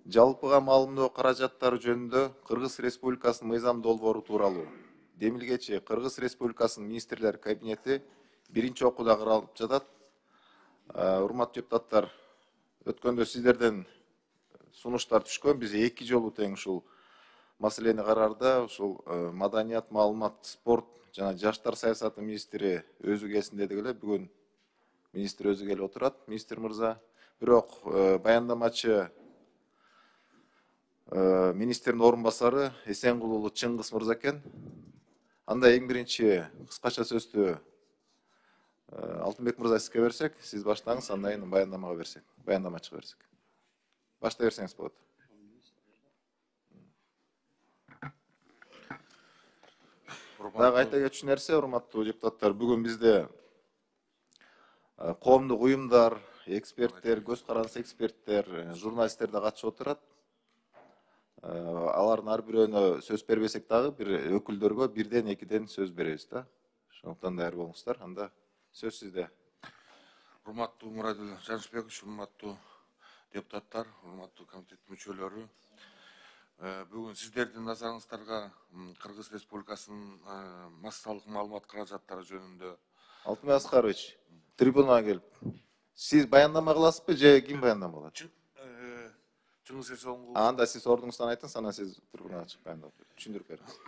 жалпыга маалымдоо каражаттары жөнүндө Кыргыз Республикасынын мыйзам долбоору тууралуу. Демилгечи Кыргыз Республикасынын министрлер кабинети биринчи окууда каралып жатат. Урматтуу депутаттар, өткөндө сиздерден сунуштар түшкөн. Биз 2 жолу тең ушул маселени карарда ушул маданият, маалымат, спорт жана жаштар саясаты министри өзү келсин дедик эле. Бүгүн министр өзү келип отурат, министр мырза. Бирок баяндамачы министрдин орун басары Эсенгул уулу Чыңгыз мырза экен. Анда эң биринчи кыскача сөздү Алтынбек мырза сизге берсек, сиз баштаңыз, андан кийин баяндамага берсек, баяндамачыга берсек. Баштай берсеңиз болот. Дагы айта кетчү нерсе, урматтуу депутаттар, бүгүн бизде коомдук уюмдар, эксперттер, көз каранды эксперттер, журналисттер да катышып отурат. Алардын ар бирөөнө сөз бербесек дагы бир өкүлдөргө бирден экиден сөз беребиз да. Ошондуктан даяр болуңуздар. Анда сөз сизде. Урматтуу Мурадил Жанышбекович, урматтуу депутаттар, урматтуу комитет мүчөлөрү. Бүгүн сиздердин назарыңыздарга Кыргыз Республикасынын массалык маалымат каражаттары жөнүндө. Алтынбек Аскарович, трибунага келип, сиз баяндама кыласызбы же ким баяндама кылат? Чыңгыз Эсенгул. Анда сиз ордуңуздан айтыңыз, анан сиз трибунага чыгып баяндап түшүндүрүп бериңиз.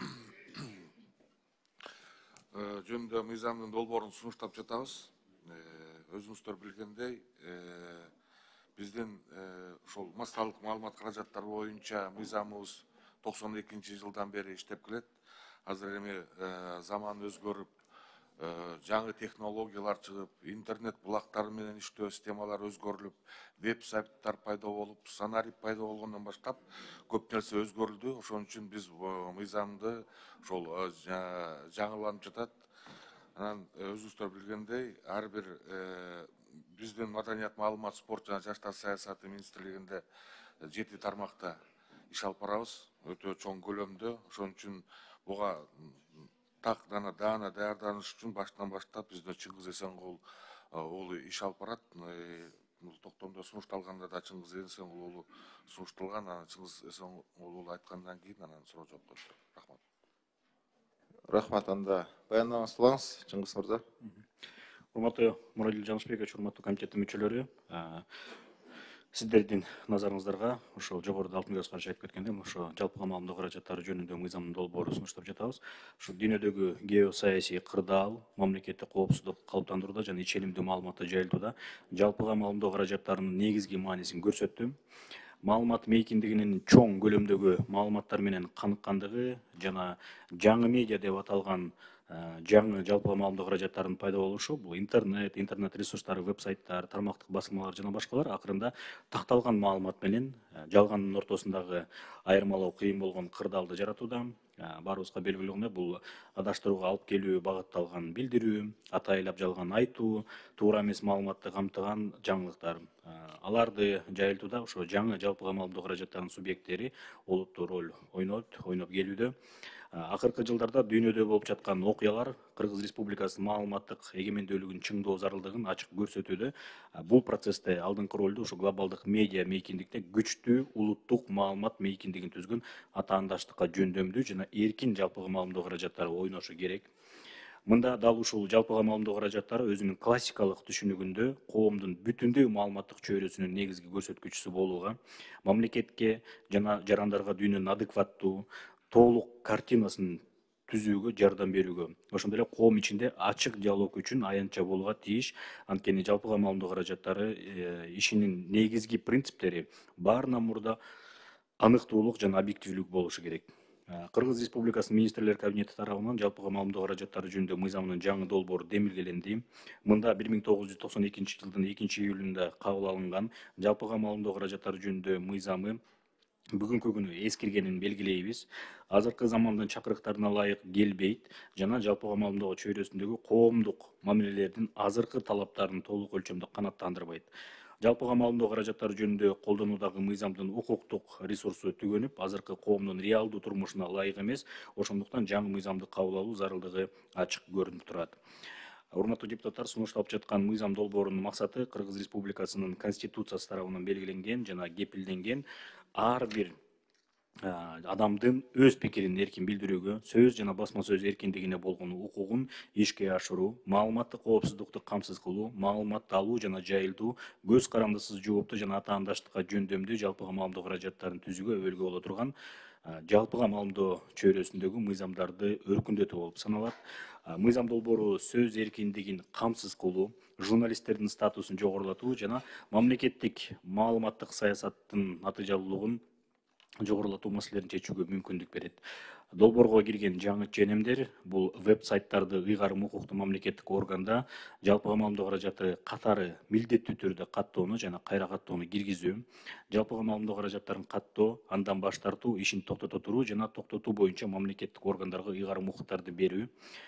Жөнүндө мыйзамдын долбоорун сунуштап жатабыз. Өзүңүздөр билгендей, биздин ошол массалык маалымат каражаттары боюнча мыйзамыбыз 92-жылдан бери иштеп келет. Азыр эми заман өзгөрүп, жаңы технологиялар чыгып, интернет булактары менен иштөө системалары өзгөрүлүп, веб-сайттар пайда болуп, сценарий пайда болгондон баштап көп нерсе өзгөрүлдү. Ошон үчүн биз мыйзамды ошол жаңыланып жатат. Анан өзүңүздөр билгендей, ар бир биздин маданият, маалымат, спорт жана жаштар саясаты министрлигинде 7 тармакта иш алып барабыз, өтө чоң көлөмдө. Ошон үчүн буга так даана даярданыш үчүн баштан баштап бизде Чыңгыз Эсенгул уулу иш алып барат. Бул токтомдо сунушталганда да Чыңгыз Эсенгул уулу сунушталган. Анан Чыңгыз Эсенгул уулу айткандан кийин анан суроо жооп коюшат. Рахмат. Рахмат, анда баяндамаңызды кылыңыз, Чыңгыз мырза. Урматтуу Мурадил Жанышбекович, урматтуу комитеттин мүчөлөрү, сиздердин назарыңыздарга ошол жогоруда Алтынбек Аскарович айтып кеткендей, ошо жалпыга маалымдоо каражаттары жөнүндө мыйзамдын долбоорун сунуштап жатабыз. Ошо дүйнөдөгү геосаясий кырдаал, мамлекеттик коопсуздук калыптандырууда жана ичеримдүү маалыматты жайылтууда жалпыга маалымдоо каражаттарынын негизги маанисин көрсөттү. Маалымат мейкиндигинин чоң көлөмдөгү маалыматтар менен каныккандыгы жана жаңы медиа деп аталган жаңы жалпыга маалымдоо каражаттарынын пайда болушу, бул интернет ресурстары, веб-сайттар, тармактык басмалар жана башкалар акырында такталган маалымат менен жалгандын ортосундагы айырмалоо кыйын болгон кырдаалды жаратууда. Баарыбызга белгилүү болгондой, бул адаштырууга алып келүү багытталган билдирүү, атайлап жалган айтуу, туура эмес маалыматты камтыган жаңылыктар. Аларды жайылтууда ошо жаңы жалпыга маалымдоо каражаттарынын субъекттери олуттуу роль ойноп келүүдө. Акыркы жылдарда дүйнөдө болуп жаткан окуялар Кыргыз Республикасынын маалыматтык эгемендүүлүгүн чыңдоо зарылдыгын ачык көрсөтүүдө. Бул процессте алдыңкы ролду ушу глобалдык медиа мейкиндикте күчтүү улуттук маалымат мейкиндигин түзгөн атаандаштыкка жөндөмдүү жана эркин жалпыга маалымдоо каражаттары ойношу керек. Мында дал ушул жалпыга маалымдоо каражаттары өзүнүн классикалык түшүнүгүндө коомдун бүтүндөй маалыматтык чөйрөсүнүн негизги көрсөткүчүсү болууга, мамлекетке жана жарандарга дүйнөнүн адекваттуу толук картинасын түзүүгө жардам берүүгө, ошондой эле коом ичинде ачык диалог үчүн аянтча болууга тийиш. Анткени жалпыга маалымдоо каражаттары ишинин негизги принциптери баарынан мурда аныктуулук жана объективдүүлүк болушу керек. Кыргыз Республикасынын министрлер кабинети тарабынан жалпыга маалымдоо каражаттары жөнүндө мыйзамынын жаңы долбоору демилгеленди. Мында 1992-жылдын 2-июлунда кабыл алынган жалпыга маалымдоо каражаттары жөнүндө мыйзамы бүгүнкү күнү эскиргенин белгилейбиз. Азыркы замандын чакырыктарына ылайык келбейт жана жалпыга маалымдоо чөйрөсүндөгү коомдук мамилелердин азыркы талаптарын толук өлчөмдө канааттандырбайт. Жалпыга маалымдоо каражаттары жөнүндө колдонуудагы мыйзамдын укуктук ресурсу түгөнүп, азыркы коомдун реалдуу турмушуна ылайык эмес. Ошондуктан жаңы мыйзамды кабыл алуу зарылдыгы ачык көрүнүп турат. Урматтуу депутаттар, сунушталып жаткан мыйзам долбоорунун максаты Кыргыз Республикасынын Конституциясы тарабынан белгиленген жана кепилденген ар бир адамдын өз пикирин эркин билдирүүгө, сөз жана басма сөз эркиндигине болгон укугун ишке ашыруу, маалыматтык коопсуздукту камсыз кылуу, маалыматты алуу жана жайылтуу, көз карандысыз, жооптуу жана атаандаштыкка жөндөмдүү жалпыга маалымдоо каражаттарын түзүүгө өбөлгө боло турган жалпыга маалымдоо чөйрөсүндөгү мыйзамдарды өркүндөтүү болуп саналат. Мыйзам долбоору сөз эркиндигин камсыз кылуу, журналисттердин статусун жогорулатуу жана мамлекеттик маалыматтык саясаттын натыйжалуулугун жогорулатуу маселелерин чечүүгө мүмкүндүк берет. Долбоорго кирген жаңы ченемдер бул веб-сайттарды ыйгарым укуктуу мамлекеттик органда жалпыга маалымдоо каражаты катары милдеттүү түрдө каттоону жана кайра каттоону киргизүү, жалпыга маалымдоо каражаттарын каттоо, андан баш тартуу, ишин токтото туруу жана токтотуу боюнча мамлекеттик органдарга ыйгарым укуктарды берүү,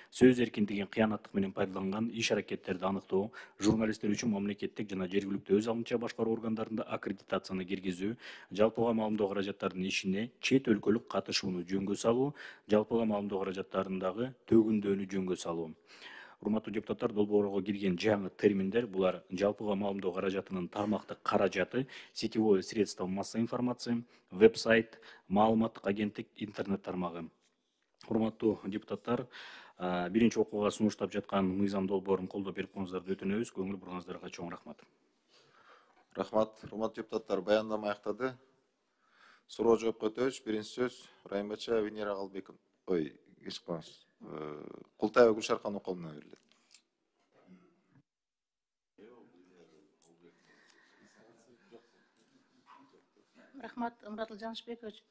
сөз эркиндигин кыянаттык менен пайдаланган иш-аракеттерди аныктоо, журналисттер үчүн мамлекеттик жана жергиликтүү өз алдынча башкаруу органдарында аккредитацияны киргизүү, жалпыга маалымдоо каражаттарынын ишине чет өлкөлүк катышууну жөнгө салуу, жалпыга маалымдоо каражаттарындагы төгүндөнү жөнгө салуу. Урматтуу депутаттар, долбоорго кирген жаңы терминдер булар жалпыга маалымдоо каражатынын тармактык каражаты, сетевое средство массовой информации, веб-сайт, маалыматтык агенттик, интернет тармагы. Урматтуу депутаттар, биринчи окууга сунуштап жаткан мыйзам долбоорун колдоп берип коюңуздарды өтүнөбүз. Көңүл буруңуздарга чоң рахмат. Рахмат. Урматтуу депутаттар, баяндама аяктады. Суроо жоопко өтөбүз. Биринчи сөз Райымбача Венера Албеков. Кечип коюңуз. Култаева Гүлшаркан Околуна берилет. Рахмат, Муратыл Жанышбекович.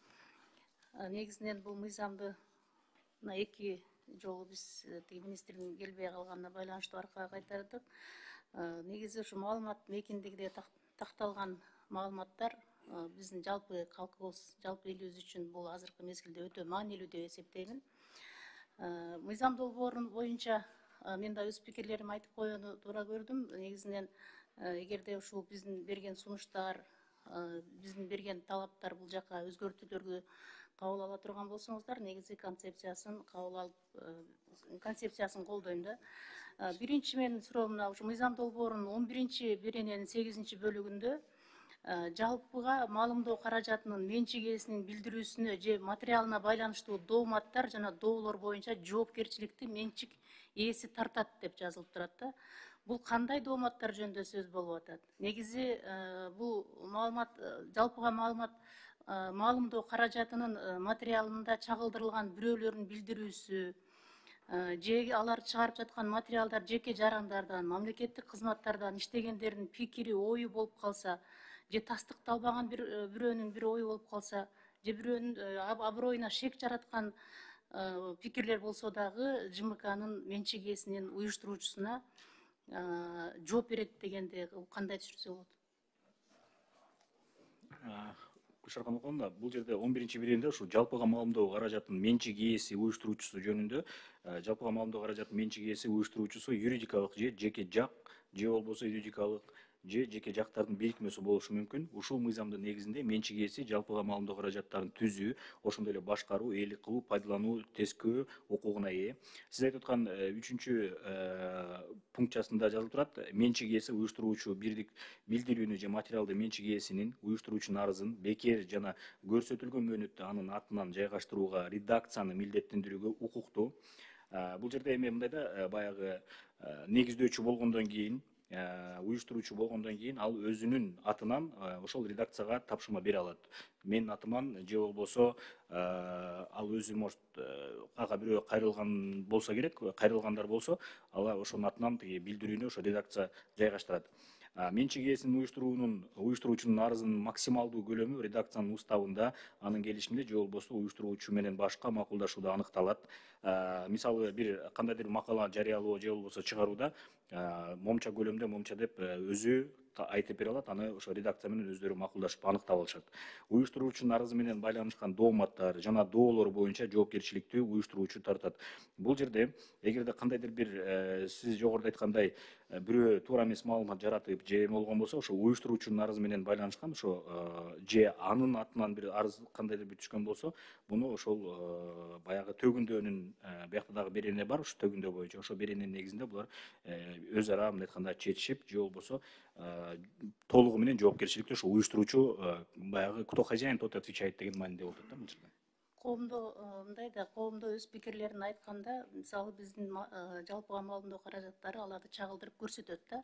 Негизинен бул мыйзамды эки жолу биз министрдин келбей калганына байланыштуу аркага кайтардык. Негизи ушу маалыматтын эркиндигине такталган маалыматтар биздин жалпы калкыбыз, жалпы элибиз үчүн бул азыркы мезгилде өтө маанилүү деп эсептеймин. Мыйзам долбоору боюнча мен да өз пикирлеримди айтып коюуну туура көрдүм. Негизинен эгерде ушул биздин берген сунуштар, биздин берген талаптар бул жака өзгөртүүлөргө кабыл ала турган болсоңуздар, негизи концепциясын кабыл алып, концепциясын колдойм да. Биринчи менин суроом мына ушу мыйзам долбоорунун 11-берененин 8-бөлүгүндө жалпыга маалымдоо каражатынын менчик ээсинин билдирүүсүнө же материалына байланыштуу дооматтар жана доолор боюнча жоопкерчиликти менчик ээси тартат деп жазылып турат да. Бул кандай дооматтар жөнүндө сөз болуп атат? Негизи бул маалымат, жалпыга маалымдоо каражатынын материалында чагылдырылган бирөөлөрдүн билдирүүсү, же алар чыгарып жаткан материалдар жеке жарандардан, мамлекеттик кызматтардан иштегендердин пикири, ою болуп калса, же тастыкталбаган бирөөнүн бир ою болуп калса, же бирөөнүн аброюна шек жараткан пикирлер болсо дагы ЖМКнын менчик ээсинин уюштуруучусуна жооп берет дегенде кандай түшүнсө болот? Гүлшаркан Околуна, бул жерде 11-беренеде ушу жалпыга маалымдоо каражатынын менчик ээси, уюштуруучусу жөнүндө жалпыга маалымдоо каражатынын менчик ээси, уюштуруучусу юридикалык же жеке жак, же болбосо юридикалык же жеке жактардын бирикмеси болушу мүмкүн. Ушул мыйзамдын негизинде менчик ээси жалпыга маалымдоо каражаттарын түзүү, ошондой эле башкаруу, ээлик кылуу, пайдалануу, тескөө укугуна ээ. Сиз айтып аткан 3-пункчасында жазылып турат, менчик ээси уюштуруучу бирдик билдирүүнү же материалды менчик ээсинин, уюштуруучунун арызын бекер жана көрсөтүлгөн мөөнөттө анын атынан жайгаштырууга редакцияны милдеттендирүүгө укуктуу. Бул жерде эми мындай да, баягы негиздөөчү болгондон кийин, уюштуруучу болгондон кийин ал өзүнүн атынан ошол редакцияга тапшырма бере алат. Менин атыман же болбосо ал өзү может ага бирөө кайрылган болсо керек, кайрылгандар болсо, ал ошонун атынан билдирүүнү ошо редакция жайгаштырат. Менчик ээсинин уюштуруучунун арызынын максималдуу көлөмү редакциянын уставында, анын келишиминде же болбосо уюштуруучу менен башка макулдашууда аныкталат. Мисалы бир кандайдыр макала жарыялоо же болбосо чыгарууда момча көлөмдө момча деп өзү айтып бере алат, аны ошо редакция менен өздөрү макулдашып аныктап алышат. Уюштуруучунун арызы менен байланышкан дооматтар жана доолор боюнча жоопкерчиликти уюштуруучу тартат. Бул жерде эгерде кандайдыр бир сиз жогоруда айткандай бирөө туура эмес маалымат жаратып же болгон болсо, ошо уюштуруучунун арызы менен байланышкан, ошо же анын атынан бир арыз кандайдыр бир түшкөн болсо, муну ошол баягы төгүндөнүн биякта дагы берене бар, ушу төгүндөө боюнча ошо берененин негизинде булар өз ара мындай айтканда чечишип же болбосо толугу менен жоопкерчиликти ошо уюштуруучу баягы кто хозяин, тот отвечает деген мааниде болот да бул жерде. Коомдо мындай да, коомдо өз пикирлерин айтканда, мисалы биздин жалпыга маалымдоо каражаттары аларды чагылдырып көрсөтөт да.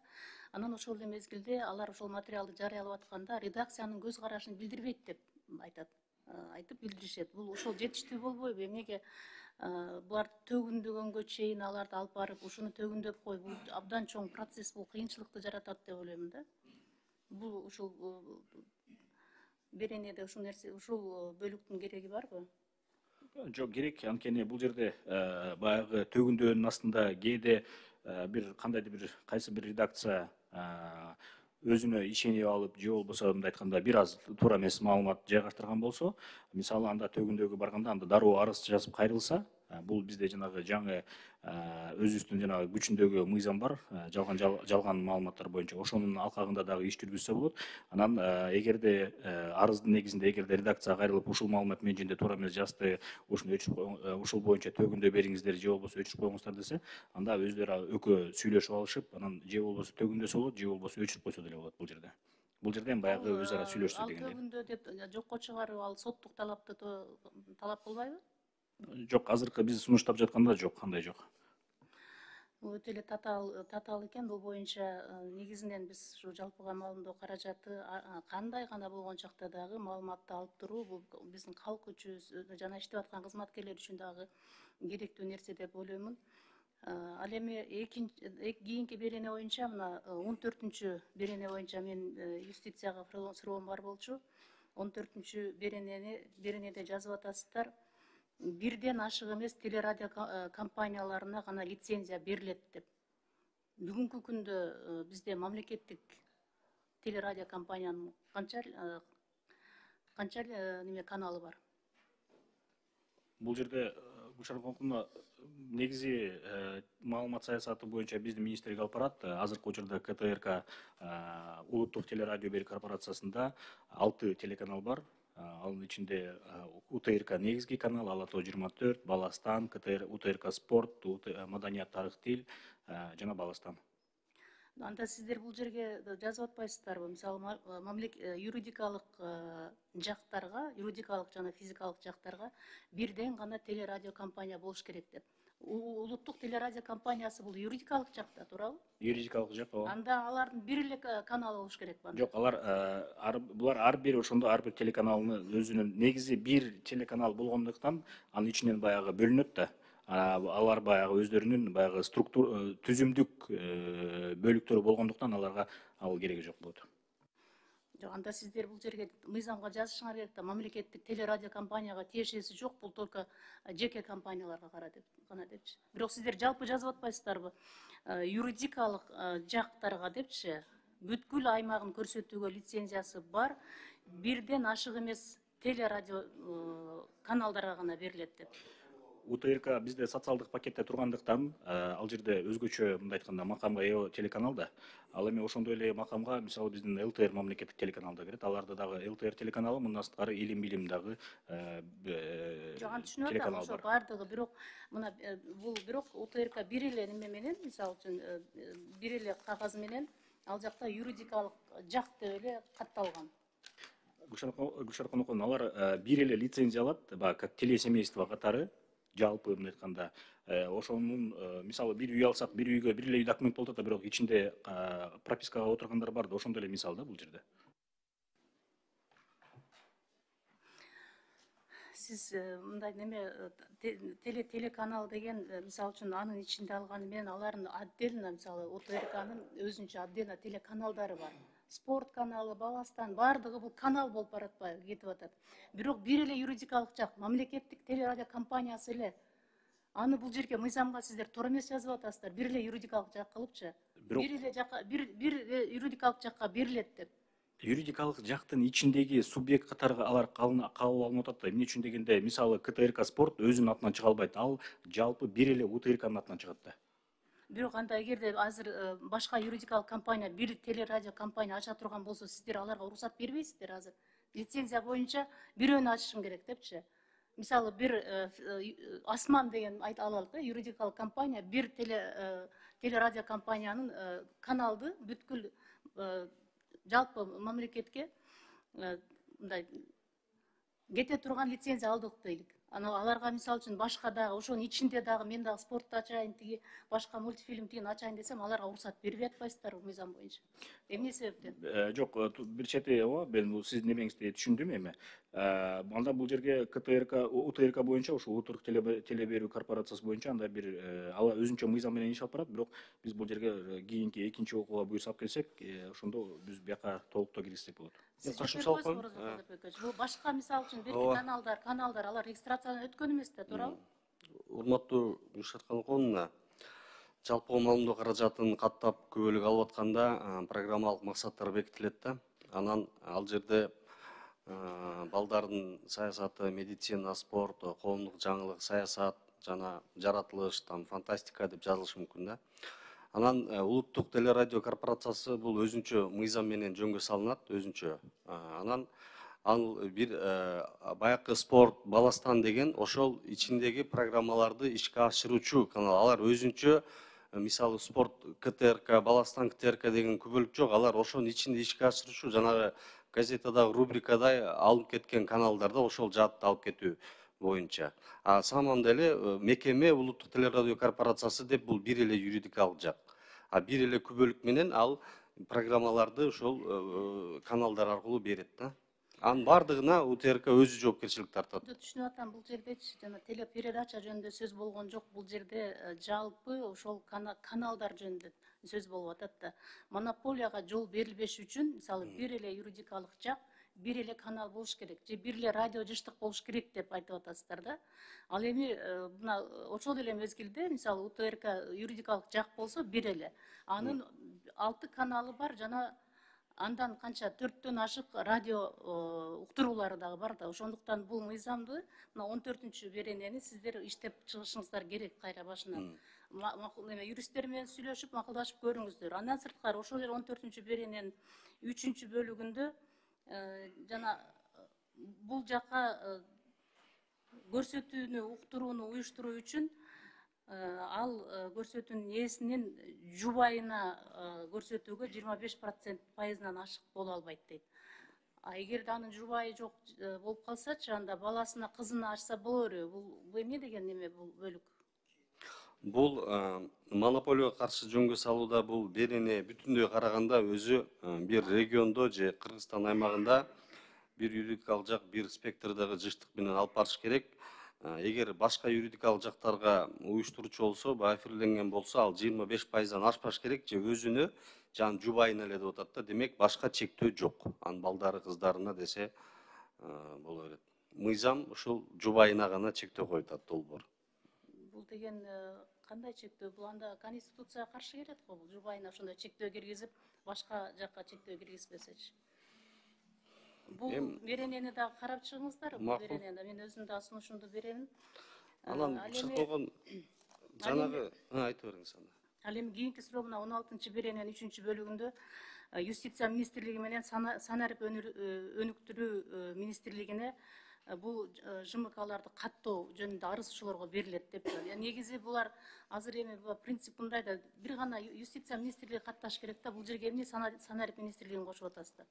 Анан ошол эле мезгилде алар ошол материалды жарыялап атканда редакциянын көз карашын билдирбейт деп айтат. Айтып билдиришет. Бул ошол жетиштүү болбойбу? Эмнеге булар төгүндөгөнгө чейин аларды алып барып, ушуну төгүндөп кой. Бул абдан чоң процесс, бул кыйынчылыкты жаратат деп ойлойм да. Бул ушул беренеде ушул нерсе, ушул бөлүктүн кереги барбы? Жок, керек. Анткени бул жерде баягы төгүндөөнүн астында кээде бир кандайдыр бир кайсы бир редакция өзүнө ишенип алып, же болбосо мындай айтканда бир аз туура эмес маалымат жайгаштырган болсо, мисалы анда төгүндөгө барганда анда дароо арыз жазып кайрылса, бул бизде жанагы жаңы өзүбүздүн жанагы күчүндөгү мыйзам бар, жалган маалыматтар боюнча ошонун алкагында дагы иш жүргүзсө болот. Анан эгерде арыздын негизинде эгерде редакцияга кайрылып ушул маалымат мен жөнүндө туура эмес жазды, ушуну өчүрүп ушул боюнча төгүндөө бериңиздер же болбосо өчүрүп коюңуздар десе, анда өздөрү экөө сүйлөшүп алышып, анан же болбосо төгүндөсө болот, же болбосо өчүрүп койсо деле болот бул жерде. Бул жерде эми баягы өз ара сүйлөшсө дегендей. Ал төгүндө деп жокко чыгаруу, ал соттук талапты талап кылбайбы? Жок, азыркы биз сунуштап жатканда жок, андай жок. Бул өтө эле татаал экен. Бул боюнча негизинен биз ушу жалпыга маалымдоо каражаты кандай гана болгон чакта дагы маалыматты алып туруу бул биздин калк үчүн жана иштеп аткан кызматкерлер үчүн дагы керектүү нерсе деп ойлоймун. Ал эми кийинки берене боюнча, мына 14-чү берене боюнча мен юстицияга суроом бар болчу. 14-чү беренеде жазып атасыздар. Бирден ашык эмес телерадио компанияларына гана лицензия берилет деп. Бүгүнкү күндө бизде мамлекеттик телерадио компаниянын канча неме каналы бар? Бул жерде Гүлшара Конкуновна, негизи маалымат саясаты боюнча биздин министрлик алып барат. Азыркы учурда КТРК улуттук телерадио берүү корпорациясында 6 телеканал бар. Анын ичинде УТРК негизги канал, Ала Тоо 24, Баластан, УТРК Спорт, Маданият, тарых, тил жана Баластан. Анда сиздер бул жерге жазып атпайсыздарбы? Мисалы, юридикалык жактарга, юридикалык жана физикалык жактарга бирден гана телерадио компания болуш керек деп. Улуттук телерадио компаниясы бул юридикалык жакта, туурабы? Юридикалык жак, ооба. Анда алардын бир эле каналы болуш керекпи? Жок, булар ар бир ошондо ар бир телеканалдын өзүнүн негизи бир телеканал болгондуктан анын ичинен баягы бөлүнөт да. Алар баягы өздөрүнүн баягы түзүмдүк бөлүктөрү болгондуктан аларга ал кереги жок болот. Жок, анда сиздер бул жерге мыйзамга жазышыңар керек да, мамлекеттик телерадио компанияга тиешеси жок, бул только жеке компанияларга гана депчи. Бирок сиздер жалпы жазып атпайсыздарбы? Юридикалык жактарга депчи, бүткүл аймагын көрсөтүүгө лицензиясы бар, бирден ашык эмес телерадио каналдарга гана берилет деп. УТРК бизде социалдык пакетте тургандыктан, ал жерде өзгөчө мындай айтканда макамга ээ телеканал да. Ал эми ошондой эле макамга мисалы биздин ЛТР мамлекеттик телеканал да кирет. Аларда дагы ЛТР телеканалы, мындан сырткары илим билим дагы телеканал бар. Ошо бардыгы, бирок мына бул бирок УТРК бир эле неме менен, мисалы үчүн бир эле кагаз менен ал жакта юридикалык жак деп эле катталган. Гүлшара Конокова, алар бир эле лицензия алат, как телесемейство катары. Жалпы мындай айтканда, ошонун мисалы бир үй алсак, бир үйгө бир эле үй документ болот да, бирок ичинде пропискага отургандар бар да, ошондой эле мисал да бул жерде. Сиз мындай неме телеканал деген, мисалы үчүн анын ичинде алганы менен алардын отдельно, мисалы УТРКнын өзүнчө отдельно телеканалдары бар. Спорт каналы, Баластан, бардыгы бул канал болуп баратпайбы, кетип атат. Бирок бир эле юридикалык жак, мамлекеттик телерадио компаниясы эле. Аны бул жерге мыйзамга сиздер туура эмес жазып атасыздар. Бир эле юридикалык жак кылыпчы. Бир эле жакка, бир юридикалык жакка берилет деп. Юридикалык жактын ичиндеги субъект катары алар кабыл алынып атат да. Эмне үчүн дегенде, мисалы КТРК Спорт өзүнүн атынан чыга албайт. Ал жалпы бир эле УТРКнын атынан чыгат да. Бирок анда эгерде азыр башка юридикалык компания, бир телерадио компания ача турган болсо, сиздер аларга уруксат бербейсиздер азыр. Лицензия боюнча бирөөнү ачышым керек депчи. Мисалы бир Асман деген алалык, юридикалык компания бир телерадио компаниянын каналды бүткүл жалпы мамлекетке мындай кете турган лицензия алдык дейлик. Аларга мисалы үчүн башка дагы ошонун ичинде дагы мен дагы спортду ачайын, тиги башка мультфильм тигин ачайын десем, аларга уруксат бербей атпайсыздарбы мыйзам боюнча? Эмне себептен? Жок, бир чети мен бул сиздин немеңизди түшүндүм эми. Анда бул жерге КТРК, УТРК боюнча, ошо Утурук теле берүү корпорациясы боюнча анда бир ала өзүнчө мыйзам менен иш алып барат, бирок биз бул жерге кийинки экинчи окууга буйрса алып келсек, ошондо биз бияка толуктоо киргизсек болот. Бул башка мисалы үчүн берки каналдар алар регистрациядан өткөн эмес да, туурабы? Урматтуу Гүлшат Каныконовна, жалпы маалымдоо каражатын каттап көбөлүк алып атканда программалык максаттар бекитилет да. Анан ал жерде балдардын саясаты, медицина, спорт, коомдук жаңылык, саясат жана жаратылыш, фантастика деп жазылышы мүмкүн да. Анан улуттук телерадио корпорациясы бул өзүнчө мыйзам менен жөнгө салынат, өзүнчө. Анан ал бир баякы спорт, баластан деген ошол ичиндеги программаларды ишке ашыруучу канал. Алар өзүнчө, мисалы спорт КТРК, баластан КТРК деген күбөлүк жок. Алар ошонун ичинде ишке ашыруучу жанагы газетадагы рубрикадай алып кеткен каналдарда ошол жаатты алып кетүү боюнча. Самом деле мекеме улуттук телерадио корпорациясы деп бул бир эле юридикалык жак. Бир эле күбөлүк менен ал программаларды ошол каналдар аркылуу берет да. Анын бардыгына УТРК өзү жоопкерчилик тартат. Түшүнүп атам, бул жердечи жана телепередача жөнүндө сөз болгон жок. Бул жерде жалпы ошол каналдар жөнүндө сөз болуп атат да. Монополияга жол берилбеш үчүн, мисалы, бир эле юридикалык жак, бир эле канал болуш керек, же бир эле радио жыштык болуш керек деп айтып атасыздар да. Ал эми мына ошол эле мезгилде, мисалы, УТРК юридикалык жак болсо бир эле. Анын 6 каналы бар жана андан канча 4төн ашык радио уктуруулары дагы бар да. Ошондуктан бул мыйзамды мына 14-күнчү беренени сиздер иштеп чыгышыңыздар керек кайра башынан. Юристтер менен сүйлөшүп, макулдашып көрүңүздөр. Андан сырткары ошол 14-күнчү берененин 3-үнчү бөлүгүндө жана бул жака көрсөтүүнү, уктурууну уюштуруу үчүн ал көрсөтүүнүн ээсинин жубайына көрсөтүүгө 25% пайызынан ашык боло албайт дейт. Эгерде анын жубайы жок болуп калсачы, анда баласына, кызына ачса боло береби? Бул эмне деген неме бул бөлүк? Бул монополияга каршы жөнгө салууда бул берене бүтүндөй караганда өзү бир региондо же Кыргызстан аймагында бир юридикалык жак, бир спектрдеги жыштык менен алып барыш керек. Эгер башка юридикалык жактарга уюштуруучу болсо, эфирленген болсо, ал 25%дан ашпаш керек, же өзүнө, же анын жубайына эле деп атат да. Демек, башка чектөө жок. Анын балдары, кыздарына десе боло берет. Мыйзам ушул жубайына гана чектөө коюп атат, долбоор. Бул деген кандай чектөө? Бул анда конституцияга каршы келет го, бул жубайына ошондой чектөө киргизип, башка жакка чектөө киргизбесечи. Бул беренени дагы карап чыгыңыздар. Бул беренени мен өзүм дагы сунушумду беремин. Анан чыккан жанагы айтып бериңиз анда. Ал эми кийинки суроомуна 16-чы берененин 3-чү бөлүгүндө Юстиция министрлиги менен санарип өнүктүрүү министрлигине бул ЖМКларды каттоо жөнүндө арызчылоорго берилет деп. Негизи булар азыр эми принцип мындай да, бир гана Юстиция министрлиги катташ керек да, бул жерге эмне санарип министрлигин кошуп атасыздар?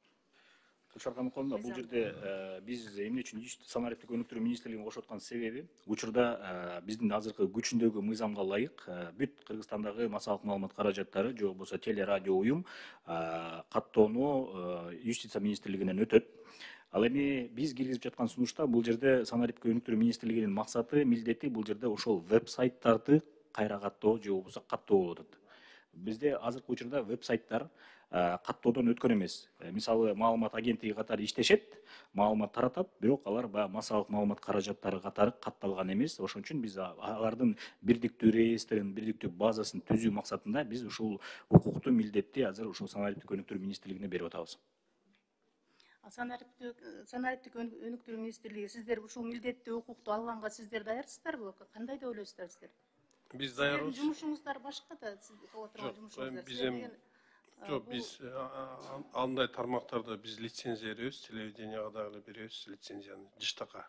Гүлшат Каныконовна, бул жерде биз эмне үчүн санариптик өнүктүрүү министрлигин кошуп аткан себеби, учурда биздин азыркы күчүндөгү мыйзамга ылайык бүт Кыргызстандагы массалык маалымат каражаттары же болбосо теле радио уюм каттоону Юстиция министрлигинен өтөт. Ал эми биз киргизип жаткан сунушта бул жерде санариптик өнүктүрүү министрлигинин максаты, милдети бул жерде ошол веб-сайттарды кайра каттоо же болбосо каттоо болуп атат. Bizde азыркы учурда веб-сайттар каттоодон өткөн эмес. Мисалы, маалымат агенттиги катары иштешет, маалымат таратат, бирок алар баягы массалык маалымат каражаттары катары катталган эмес. Ошон үчүн биз алардын бирдиктүү реестрин, бирдиктүү базасын түзүү максатында биз ушул укукту, милдетти азыр ушул санариптик өнүктүрүү министрлигине берип атабыз. Санариптик өнүктүрүү министрлиги, сиздер ушул милдетти укукту алганга сиздер даярсыздарбы? Кандай деп ойлойсуздар сиздер? Биз даярбыз. Жумушуңуздар башка да, сиз кыла турган жумушуңуздар. Жок, биз андай тармактарда биз лицензия беребиз, телевиденияга дагы беребиз лицензияны жыштыкка.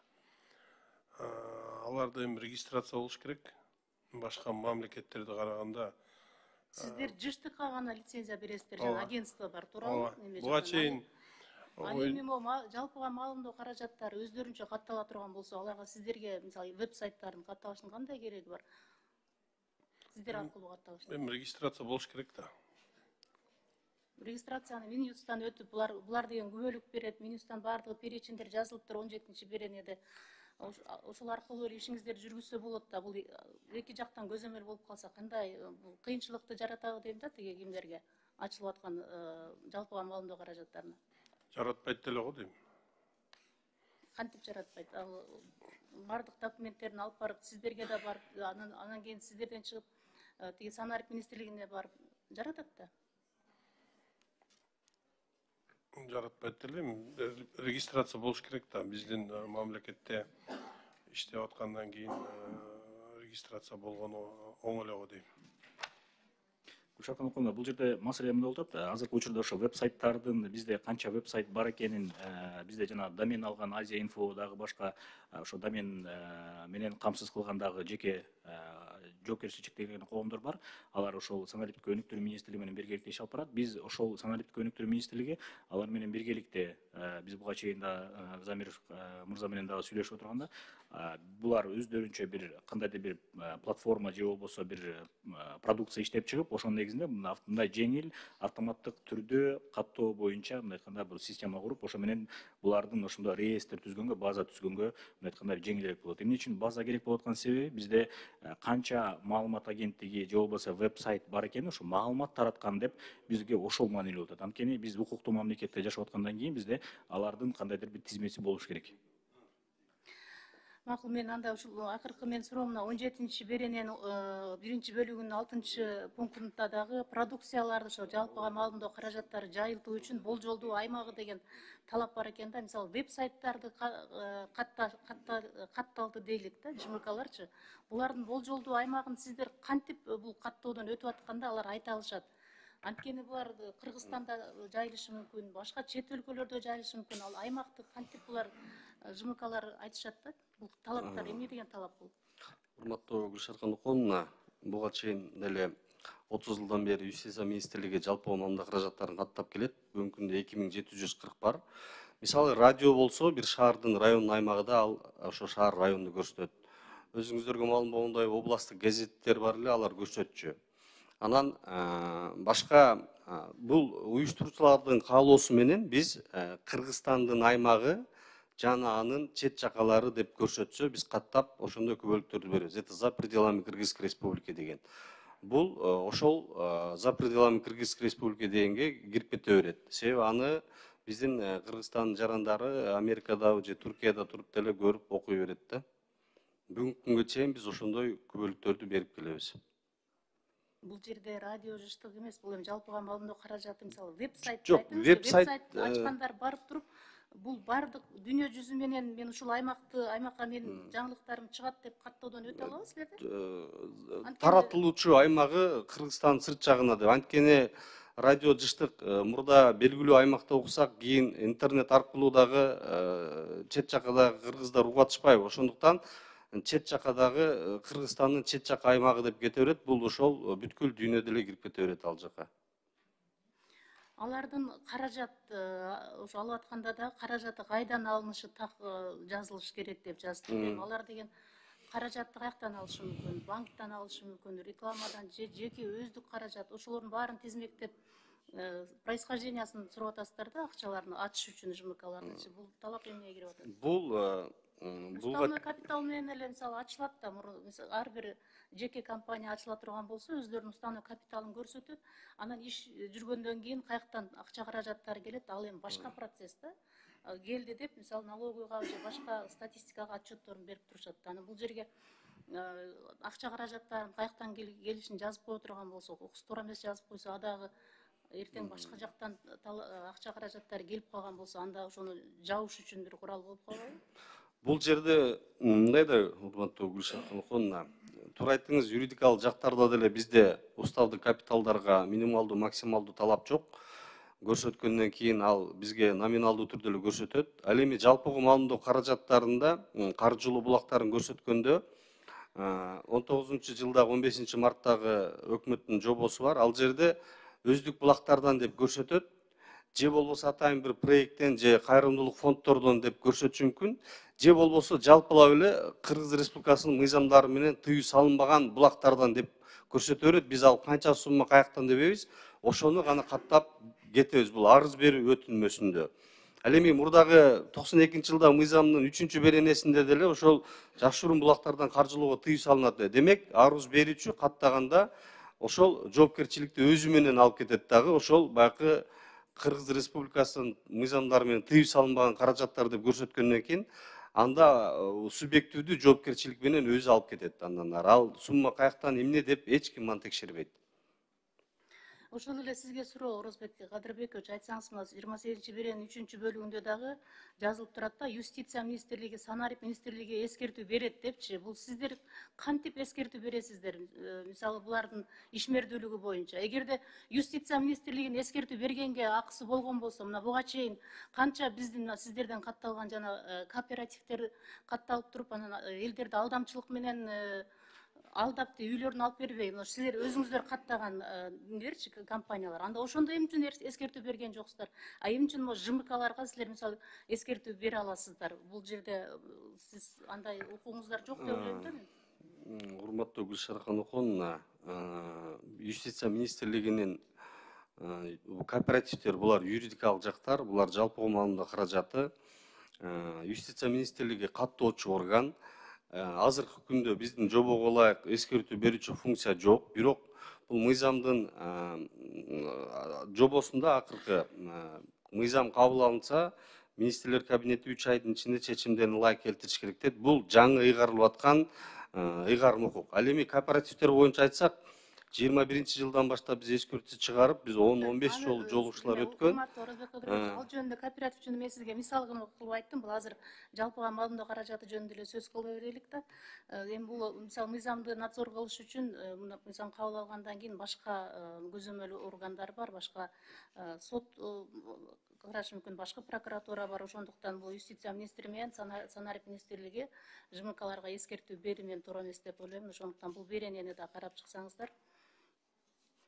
Аларда эми регистрация болуш керек. Башка мамлекеттерде караганда Сиздер жыштыкка гана лицензия бересиздер, жана агентство бар туурабы? Буга чейин Ал эми жалпыга маалымдоо каражаттары өздөрүнчө каттала турган болсо, аларга сиздерге мисалы веб-сайттардын катталышынын кандай кереги бар? Сиздер аркылуу катталыш. эми регистрация болуш керек да. Регистрацияны Минюстан өтүп, булар деген күбөлүк берет. Минюстан баардыгы перечиндер жазылыптыр 17-беренеде. Ошол аркылуу эле ишиңиздерди жүргүзсө болот да. Бул эки жактан көзөмөл болуп калса кандай кыйынчылыкты жаратабы дейм да, тиги кимдерге ачылып аткан жалпыга маалымдоо каражаттарына. Жаратпайт деле го дейм. Кантип жаратпайт? Ал баардык документтерин алып барып сиздерге да барып, анан кийин сиздерден чыгып тиги санарип министрлигине барып жаратат да. Жаратпайт делем, регистрация болуш керек да. Биздин мамлекетте иштеп аткандан кийин регистрация болгону оң эле го дейм. Гүлшаркан Окуновна, бул жерде маселе эмне болуп атат? Азыркы учурда ошо веб-сайттардын бизде канча веб-сайт бар экенин, бизде жана домен алган Азия инфо дагы башка ошо домен менен камсыз кылган дагы жеке жоопкерчиликтеги коомдор бар. Алар ошол санариптик өнүктүрүү министрлиги менен биргеликте иш алып барат. Биз ошол санариптик өнүктүрүү министрлиги алар менен биргеликте биз буга чейин да Замир мырза менен дагы сүйлөшүп отурганда, булар өздөрүнчө бир кандайдыр бир платформа же болбосо бир продукция иштеп чыгып, ошонун негизинде мындай жеңил автоматтык түрдө каттоо боюнча мындай айтканда бир система куруп, ошо менен булардын ошондой реестр түзгөнгө, база түзгөнгө мындай айтканда жеңилирээк болот. Эмне үчүн база керек болуп аткан себеби бизде канча маалымат агенттиги же болбосо веб-сайт бар экени, ошо маалымат тараткан деп бизге ошол маанилүү болот. Анткени биз укуктуу мамлекетте жашап аткандан кийин бизде алардын кандайдыр бир тизмеси болуш керек. Макул, мен анда ушул акыркы мен суроомуна 17-берененин 1-бөлүгүнүн 6-пунктунда дагы продукцияларды ошо жалпыга маалымдоо каражаттары жайылтуу үчүн болжолдуу аймагы деген талап бар экен да. Мисалы веб-сайттарды катталды дейлик да, ЖМКларчы. Булардын болжолдуу аймагын сиздер кантип бул каттоодон өтүп атканда алар айта алышат? Анткени булар Кыргызстанда жайылышы мүмкүн, башка чет өлкөлөрдө жайылышы мүмкүн. Ал аймакты кантип булар ЖМКлар айтышат да? Бул талаптар эмне деген талап бул? Урматтуу Гүлшаркан Окуновна, буга чейин деле 30 жылдан бери ЮСИСА министрлиги жалпы маалымдоо каражаттарын каттап келет. Бүгүнкү күндө 2740 бар. Мисалы радио болсо, бир шаардын район аймагында ал ошо шаар районду көрсөтөт. Өзүңүздөргө маалым болгондой областтык газеттер бар эле, алар көрсөтчү. Анан башка бул уюштуруучулардын каалоосу менен биз Кыргызстандын аймагы жана анын чет жакалары деп көрсөтсө, биз каттап ошондой күбөлүктөрдү беребиз. Это за пределами Кыргызской республики деген. Бул ошол за пределами Кыргызской республики дегенге кирип кете берет. Себеби аны биздин Кыргызстандын жарандары Америкада же Туркияда туруп деле көрүп окуй берет да. Бүгүнкү күнгө чейин биз ошондой күбөлүктөрдү берип келебиз. Бул жерде радио жыштык эмес, бул эми жалпыга маалымдоо каражаты, мисалы веб-сайт Жок, веб-сайт ачкандар барып туруп, бул бардык дүйнө жүзү менен мен ушул аймакка менин жаңылыктарым чыгат деп каттоодон өтө алабыз силерде? Таратылуучу аймагы Кыргызстандын сырт жагына деп. Анткени радио жыштык мурда белгилүү аймакта уксак, кийин интернет аркылуу дагы чет жакадагы кыргыздар угуп атышпайбы? Ошондуктан чет жакадагы Кыргызстандын чет жака аймагы деп кете берет. Бул ошол бүткүл дүйнөдө эле кирип кете берет ал жака. Алардын каражат ошо алып атканда да каражаты кайдан алынышы так жазылыш керек деп жазды. Алар деген каражатты каяктан алышы мүмкүн? Банктан алышы мүмкүн, рекламадан же жеке өздүк каражат. Ошолордун баарын тизмектеп происхождениясын сурап атасыздар да, акчаларын ачыш үчүн ЖМКларды. Бул талап эмнеге кирип атат? Бул уставной капитал менен эле мисалы ачылат да, ар бир жеке компания ачыла турган болсо, өздөрүнүн уставной капиталын көрсөтөт. Анан иш жүргөндөн кийин каяктан акча каражаттары келет, ал эми башка процесс да. Келди деп, мисалы налоговыйга же башка статистикага отчетторун берип турушат. Анан бул жерге акча каражаттарын каяктан келишин жазып кое турган болсо, туура эмес жазып койсо, адагы эртең башка жактан акча каражаттары келип калган болсо, анда ошону жабыш үчүн бир курал болуп калбайбы? Бул жерде мындай да, урматтуу Гүлшаркан Окуновна, туура айттыңыз, юридикалык жактарда деле бизде уставдык капиталдарга минималдуу, максималдуу талап жок. Көрсөткөндөн кийин ал бизге номиналдуу түрдө эле көрсөтөт. Ал эми жалпыга маалымдоо каражаттарында каржылуу булактарын көрсөткөндө 19-жылдагы 15-марттагы өкмөттүн жобосу бар. Ал жерде өздүк булактардан деп көрсөтөт. Же болбосо атайын бир проекттен же кайрымдуулук фонддордон деп көрсөтүшү мүмкүн. Же болбосо жалпылап эле Кыргыз Республикасынын мыйзамдары менен тыюу салынбаган булактардан деп көрсөтө берет. Биз ал канча сумма каяктан дебейбиз. Ошону гана каттап кетебиз. Бул арыз берүү өтүнмөсүндө. Ал эми мурдагы 92-жылдагы мыйзамдын 3-беренесинде деле ошол жашыруун булактардан каржылоого тыюу салынат. Демек, арыз берүүчү каттаганда ошол жоопкерчиликти өзү менен алып кетет дагы. Ошол баягы Кыргыз Республикасынын мыйзамдары менен тыюу салынбаган каражаттар деп көрсөткөндөн кийин анда субъективдүү жоопкерчилик менен өзү алып кетет. Андан ары ал сумма каяктан эмне деп эч ким аны текшербейт. Ошол эле сизге суроо Орозбек Кадырбекович, айтсаңыз, мына 28-беренин 3-бөлүгүндө дагы жазылып турат да, Юстиция министрлиги, Санарип министрлиги эскертүү берет депчи. Бул сиздер кантип эскертүү бересиздер? Мисалы, булардын ишмердүүлүгү боюнча. Эгерде Юстиция министрлигинин эскертүү бергенге акысы болгон болсо, мына буга чейин канча биздин сиздерден катталган жана кооперативдер катталып туруп, анан элдерди алдамчылык менен алдапты, үйлөрүн алып бербей, силер өзүңүздөр каттаган нерчи компаниялар. Анда ошондо эмне үчүн эскертүү берген жоксуздар? Эмне үчүн ЖМКларга силер мисалы эскертүү бере аласыздар? Бул жерде сиз андай укугуңуздар жок деп ойлойм да мен. Урматтуу Гүлшара Каноконовна, Юстиция министрлигинин кооперативдер, булар юридикалык жактар, булар жалпы маалымат каражаты. Юстиция министрлиги каттоочу орган. Азыркы күндө биздин жобого ылайык эскертүү берүүчү функция жок. Бирок бул мыйзамдын жобосунда акыркы мыйзам кабыл алынса, министрлер кабинети 3 айдын ичинде чечимдерин ылайык келтириш керек дейт. Бул жаңы ыйгарылып аткан ыйгарым укук. Ал эми кооперативдер боюнча айтсак, 21-жылдан баштап биз эскертүү чыгарып, биз 10-15 жолу жолугушуулар өткөн. Ал жөнүндө кооператив жөнүндө мен сизге мисал кылып айттым. Бул азыр жалпыга маалымдоо каражаты жөнүндө эле сөз кыла берелик да. Эми бул мисалы мыйзамды надзор кылыш үчүн мыйзам кабыл алгандан кийин башка көзөмөл органдар бар, башка сот карашы мүмкүн, башка прокуратура бар. Ошондуктан бул Юстиция министри менен Санарип министрлиги ЖМКларга эскертүү берүү менен туура эмес деп ойлойм. Ошондуктан бул беренени да карап чыксаңыздар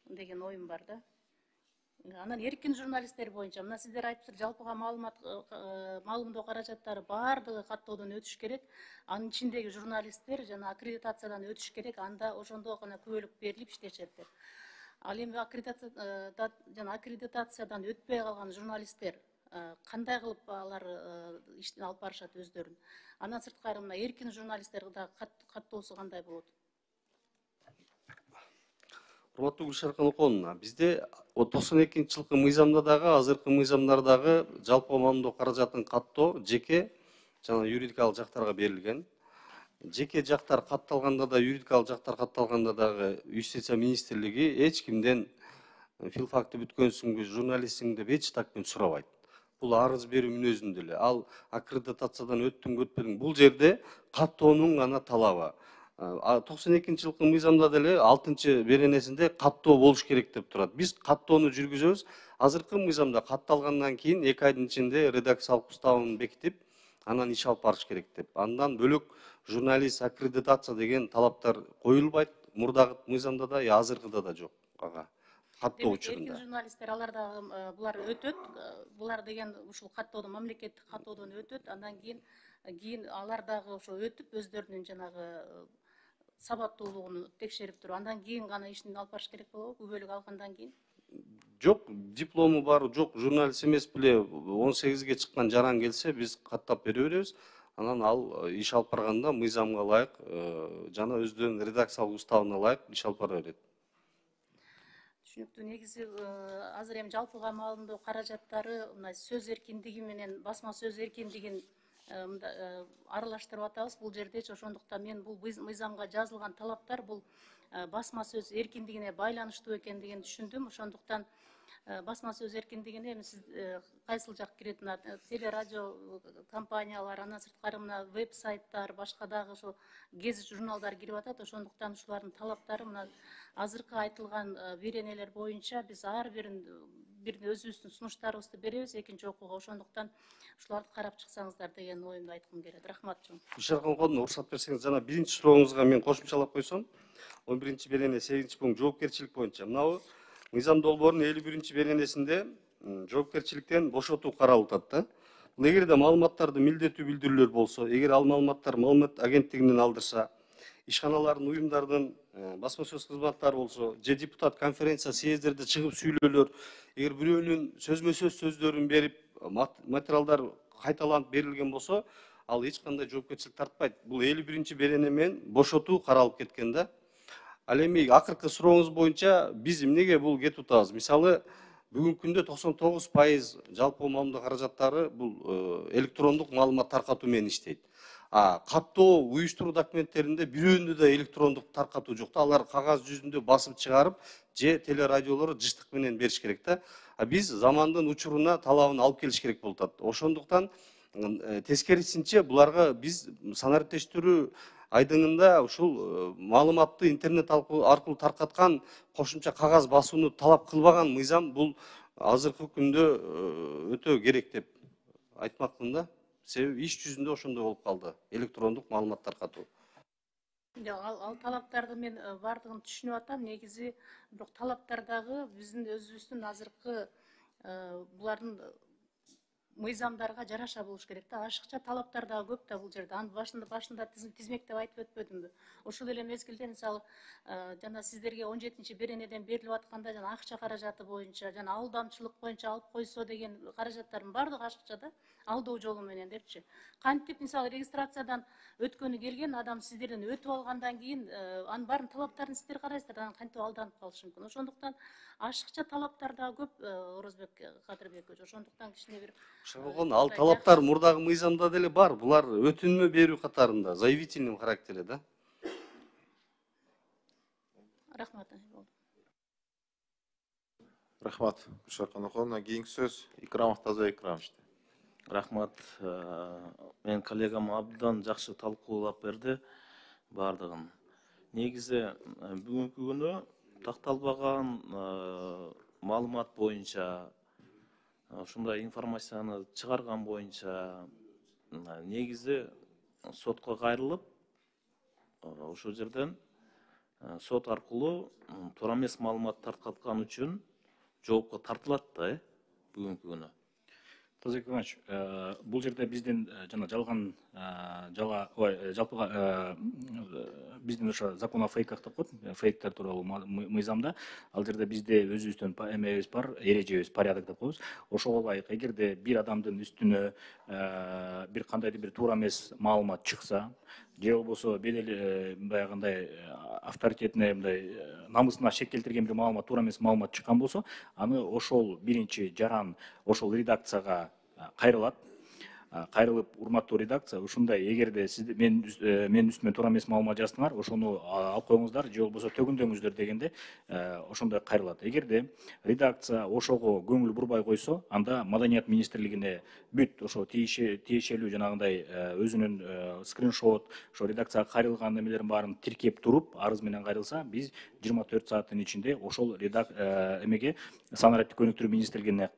деген оюм бар да. Анан эркин журналисттер боюнча мына сиздер айтыптыр, жалпыга маалымдоо каражаттары баардыгы каттоодон өтүш керек. Анын ичиндеги журналисттер жана аккредитациядан өтүш керек. Анда ошондо гана күбөлүк берилип иштешет деп. Ал эми аккредитациядан өтпөй калган журналисттер кандай кылып алар иштин алып барышат өздөрүн? Андан сырткары мына эркин журналисттер да каттоосу кандай болот? Урматтуу Гүлшара Каноконовна, бизде 92-жылкы мыйзамда дагы, азыркы мыйзамдардагы жалпы маалымдоо каражатын каттоо жеке жана юридикалык жактарга берилген. Жеке жактар катталганда да, юридикалык жактар катталганда дагы Юстиция министрлиги эч кимден филфакты бүткөнсүңбү, журналистсиң деп эч такпен сурабайт. Бул арыз берүү мүнөзүндө эле. Ал аккредитациядан өттүң, өтпөдүң, бул жерде каттоонун гана талабы. 92-жылкы мыйзамда деле 6-беренесинде каттоо болуш керек деп турат. Биз каттоону жүргүзөбүз. Азыркы мыйзамда катталгандан кийин 2 айдын ичинде редакциялык уставын бекитип, анан иш алып барыш керек деп. Андан бөлөк журналист аккредитация деген талаптар коюлбайт. Мурдагы мыйзамда да, азыркыда да жок. Каттоо учурунда. Эркин журналисттер алар дагы булар өтөт. Булар деген ушул каттоодон, мамлекеттик каттоодон өтөт. Андан кийин алар дагы ошо өтүп өздөрүнүн жанагы сабаттуулугун текшерип туруп, андан кийин гана ишин алып барыш керек болобу, күбөлүк алгандан кийин? Жок, диплому бар, жок, журналист эмес беле 18-ге чыккан жаран келсе, биз каттап бере беребиз. Анан ал иш алып барганда мыйзамга ылайык жана өздөрүнүн редакциялык уставына ылайык иш алып бара берет. Түшүнүктүү. Негизи азыр эми жалпыга маалымдоо каражаттары мына сөз эркиндиги менен басма сөз эркиндигин аралаштырып атабыз бул жердечи. Ошондуктан мен бул мыйзамга жазылган талаптар бул басма сөз эркиндигине байланыштуу экендигин түшүндүм. Ошондуктан басма сөз эркиндигине эми сиз кайсыл жак кирет? Мына телерадио компаниялар, андан сырткары мына веб-сайттар, башка дагы ошо гезит журналдар кирип атат. Ошондуктан ушулардын талаптары мына азыркы айтылган беренелер боюнча биз ар бирин бир өзүбүздүн сунуштарыбызды беребиз экинчи окууга, ошондуктан ушуларды карап чыксаңыздар деген оюмду айткым келет. Рахмат чоң. Бишаркан коодуна уруксат берсеңиз, жана биринчи сурооңузга мен кошумчалап койсом, 11 берене 8 пункт жоопкерчилик боюнча. Мынабы мыйзам долбоорунун 51 беренесинде жоопкерчиликтен бошотуу каралып атат да. Эгерде маалыматтарды милдеттүү билдирүүлөр болсо, эгер ал маалыматтар маалымат агенттигинен алдырса, ишканалардын, уюмдардын басма сөз кызматтары болсо, же депутат конференция, съездерде чыгып сүйлөөлөр, эгер бирөөнүн сөзмө сөз сөздөрүн берип, материалдар кайталанып берилген болсо, ал эч кандай жоопкерчилик тартпайт. Бул 51 берене менен бошотуу каралып кеткен да. Ал эми акыркы сурооңуз боюнча биз эмнеге бул кетип атабыз? Мисалы, бүгүнкү күндө 99% жалпы маалымат каражаттары бул электрондук маалымат таркатуу менен иштейт. Каттоо уюштуруу документтеринде бирөөндө да электрондук таркатуу жок да. Алар кагаз жүзүндө басып чыгарып, же телерадиолор жыштык менен бериш керек да. Биз замандын учуруна талабын алып келиш керек болуп атат. Ошондуктан тескерисинче буларга биз санариптештирүү айдыңында ушул маалыматты интернет аркылуу таркаткан кошумча кагаз басууну талап кылбаган мыйзам бул азыркы күндө өтө керек деп айтмакмын да. Себеби иш жүзүндө ошондой болуп калды, электрондук маалымат таркатуу. Ал талаптарды мен бардыгын түшүнүп атам. Негизи бирок талаптар дагы биздин өзүбүздүн азыркы булардын мыйзамдарга жараша болуш керек да. Ашыкча талаптар дагы көп да бул жерде. Анын башында тизмектеп айтып өтпөдүмбү? Ошол эле мезгилде мисалы жана сиздерге 17 беренеден берилип атканда жана акча каражаты боюнча, жана алдамчылык боюнча алып койсо деген каражаттардын бардыгы ашыкча да. Алдоо жолу менен депчи. Кантип мисалы регистрациядан өткөнү келген адам сиздерден өтүп алгандан кийин анын баарын талаптарын сиздер карайсыздар, анан кантип алданып калышы мүмкүн. Ошондуктан ашыкча талаптар да көп Орозбек Кадырбекович. Ошондуктан кичине бир ал талаптар мурдагы мыйзамда деле бар. Булар өтүнмө берүү катарында, заявительный характерде да. Рахмат. Рахмат. Бишаркан окуна кийинки сөз Икрамов Таза Икрамовичте. Рахмат. Мен коллегам абдан жакшы талкуулап берди бардыгын. Негизи бүгүнкү күнү такталбаган маалымат боюнча, ушундай информацияны чыгарган боюнча негизи сотко кайрылып, ошол жерден сот аркылуу туура эмес маалымат таркаткан үчүн жоопко тартылат да бүгүнкү күнү. Таза Иванович, бул жерде биздин жана жалган жалпыга биздин ошо закон о фейках деп коет, фейктер тууралуу мыйзамда ал жерде бизде өзүбүздүн эмебиз бар, эрежебиз, порядок деп коебуз. Ошого ылайык, эгерде бир адамдын үстүнө бир кандайдыр бир туура эмес маалымат чыкса, же болбосо бедел баягындай авторитетине мындай намысына шек келтирген бир маалымат, туура эмес маалымат чыккан болсо, аны ошол биринчи жаран ошол редакцияга кайрылат. Кайрылып, урматтуу редакция, ушундай эгерде сиз менин үстүмө туура эмес маалымат жаздыңар, ошону алып коюңуздар, же болбосо төгүндөңүздөр дегенде ошондой кайрылат. Эгерде редакция ошого көңүл бурбай койсо, анда Маданият министрлигине бүт ошо тиешелүү жанагындай өзүнүн скриншот, ошо редакцияга кайрылган эмелерин баарын тиркеп туруп, арыз менен кайрылса, биз 24 сааттын ичинде ошол эмеге санариптик өнүктүрүү министрлигине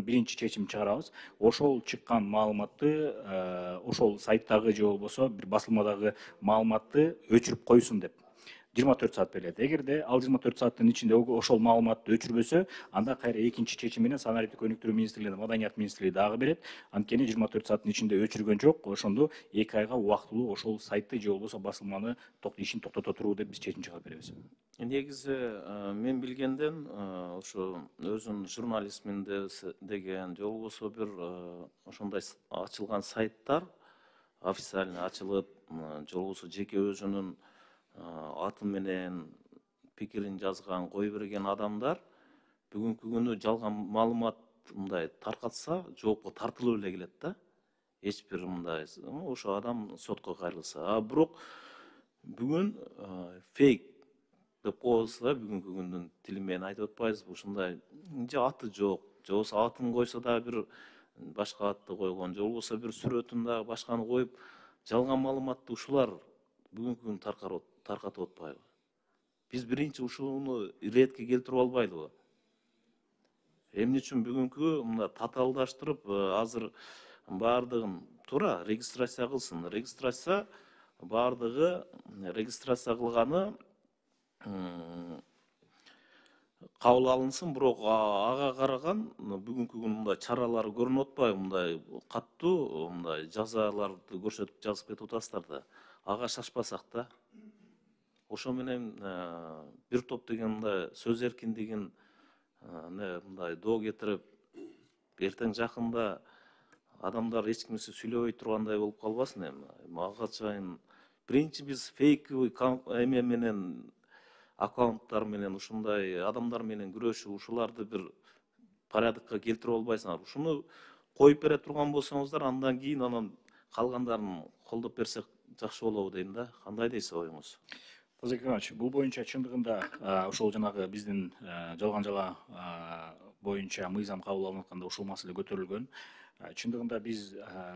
биринчи чечим чыгарабыз. Ошол чыккан маалыматты ошол сайттагы же болбосо бир басылмадагы маалыматты өчүрүп койсун деп 24 саат берилет. Эгерде ал 24 сааттын ичинде ошол маалыматты өчүрбөсө, анда кайра экинчи чечим менен санариптик өнүктүрүү министрлигине, Маданият министрлиги дагы берет. Анткени 24 сааттын ичинде өчүргөн жок, ошондо 2 айга убактылуу ошол сайтты же болбосо басылманы ишин токтото туруу деп биз чечим чыгарып беребиз. Негизи мен билгенден ошо өзүн журналистмин деген же болбосо бир ошондой ачылган сайттар официально ачылып, же болбосо жеке өзүнүн аты менен пикирин жазган, кое берген адамдар бүгүнкү күнү жалган маалымат мындай таркатса, жоопко тартылып эле келет да. Эч бир мындай ошо адам сотко кайрылса. Бирок бүгүн фейк деп коебуз да, бүгүнкү күндүн тили менен айтып атпайбызбы? Ушундай же аты жок, же болбосо атын койсо да бир башка атты койгон, же болбосо бир сүрөтүн дагы башканы коюп, жалган маалыматты ушулар бүгүнкү күнү таркатып атпайбы? Биз биринчи ушуну иретке келтирип албайлыбы? Эмне үчүн бүгүнкү мына татаалдаштырып азыр баардыгын туура регистрация кылсын. Регистрация баардыгы регистрация кылганы кабыл алынсын, бирок ага караган бүгүнкү күнү мындай чаралар көрүнүп атпайбы, мындай каттуу мындай жазаларды көрсөтүп жазып кетип атасыздар да. Ага шашпасак да. Ошо менен бир топ деген мындай сөз эркиндигин мындай доо кетирип, эртең жакында адамдар эч кимсе сүйлөбөй тургандай болуп калбасын эми. Ага чейин биринчи биз фейковый эме менен аккаунттар менен ушундай адамдар менен күрөшүп, ушуларды бир порядокко келтирип албайсыңар. Ушуну коюп бере турган болсоңуздар, андан кийин анан калгандарын колдоп берсек жакшы болобу дейм да. Кандай дейсиз оюңуз? Тазабек Иванович, бул боюнча чындыгында ошол жанагы биздин жалган жала боюнча мыйзам кабыл алынып атканда ушул маселе көтөрүлгөн. Чындыгында биз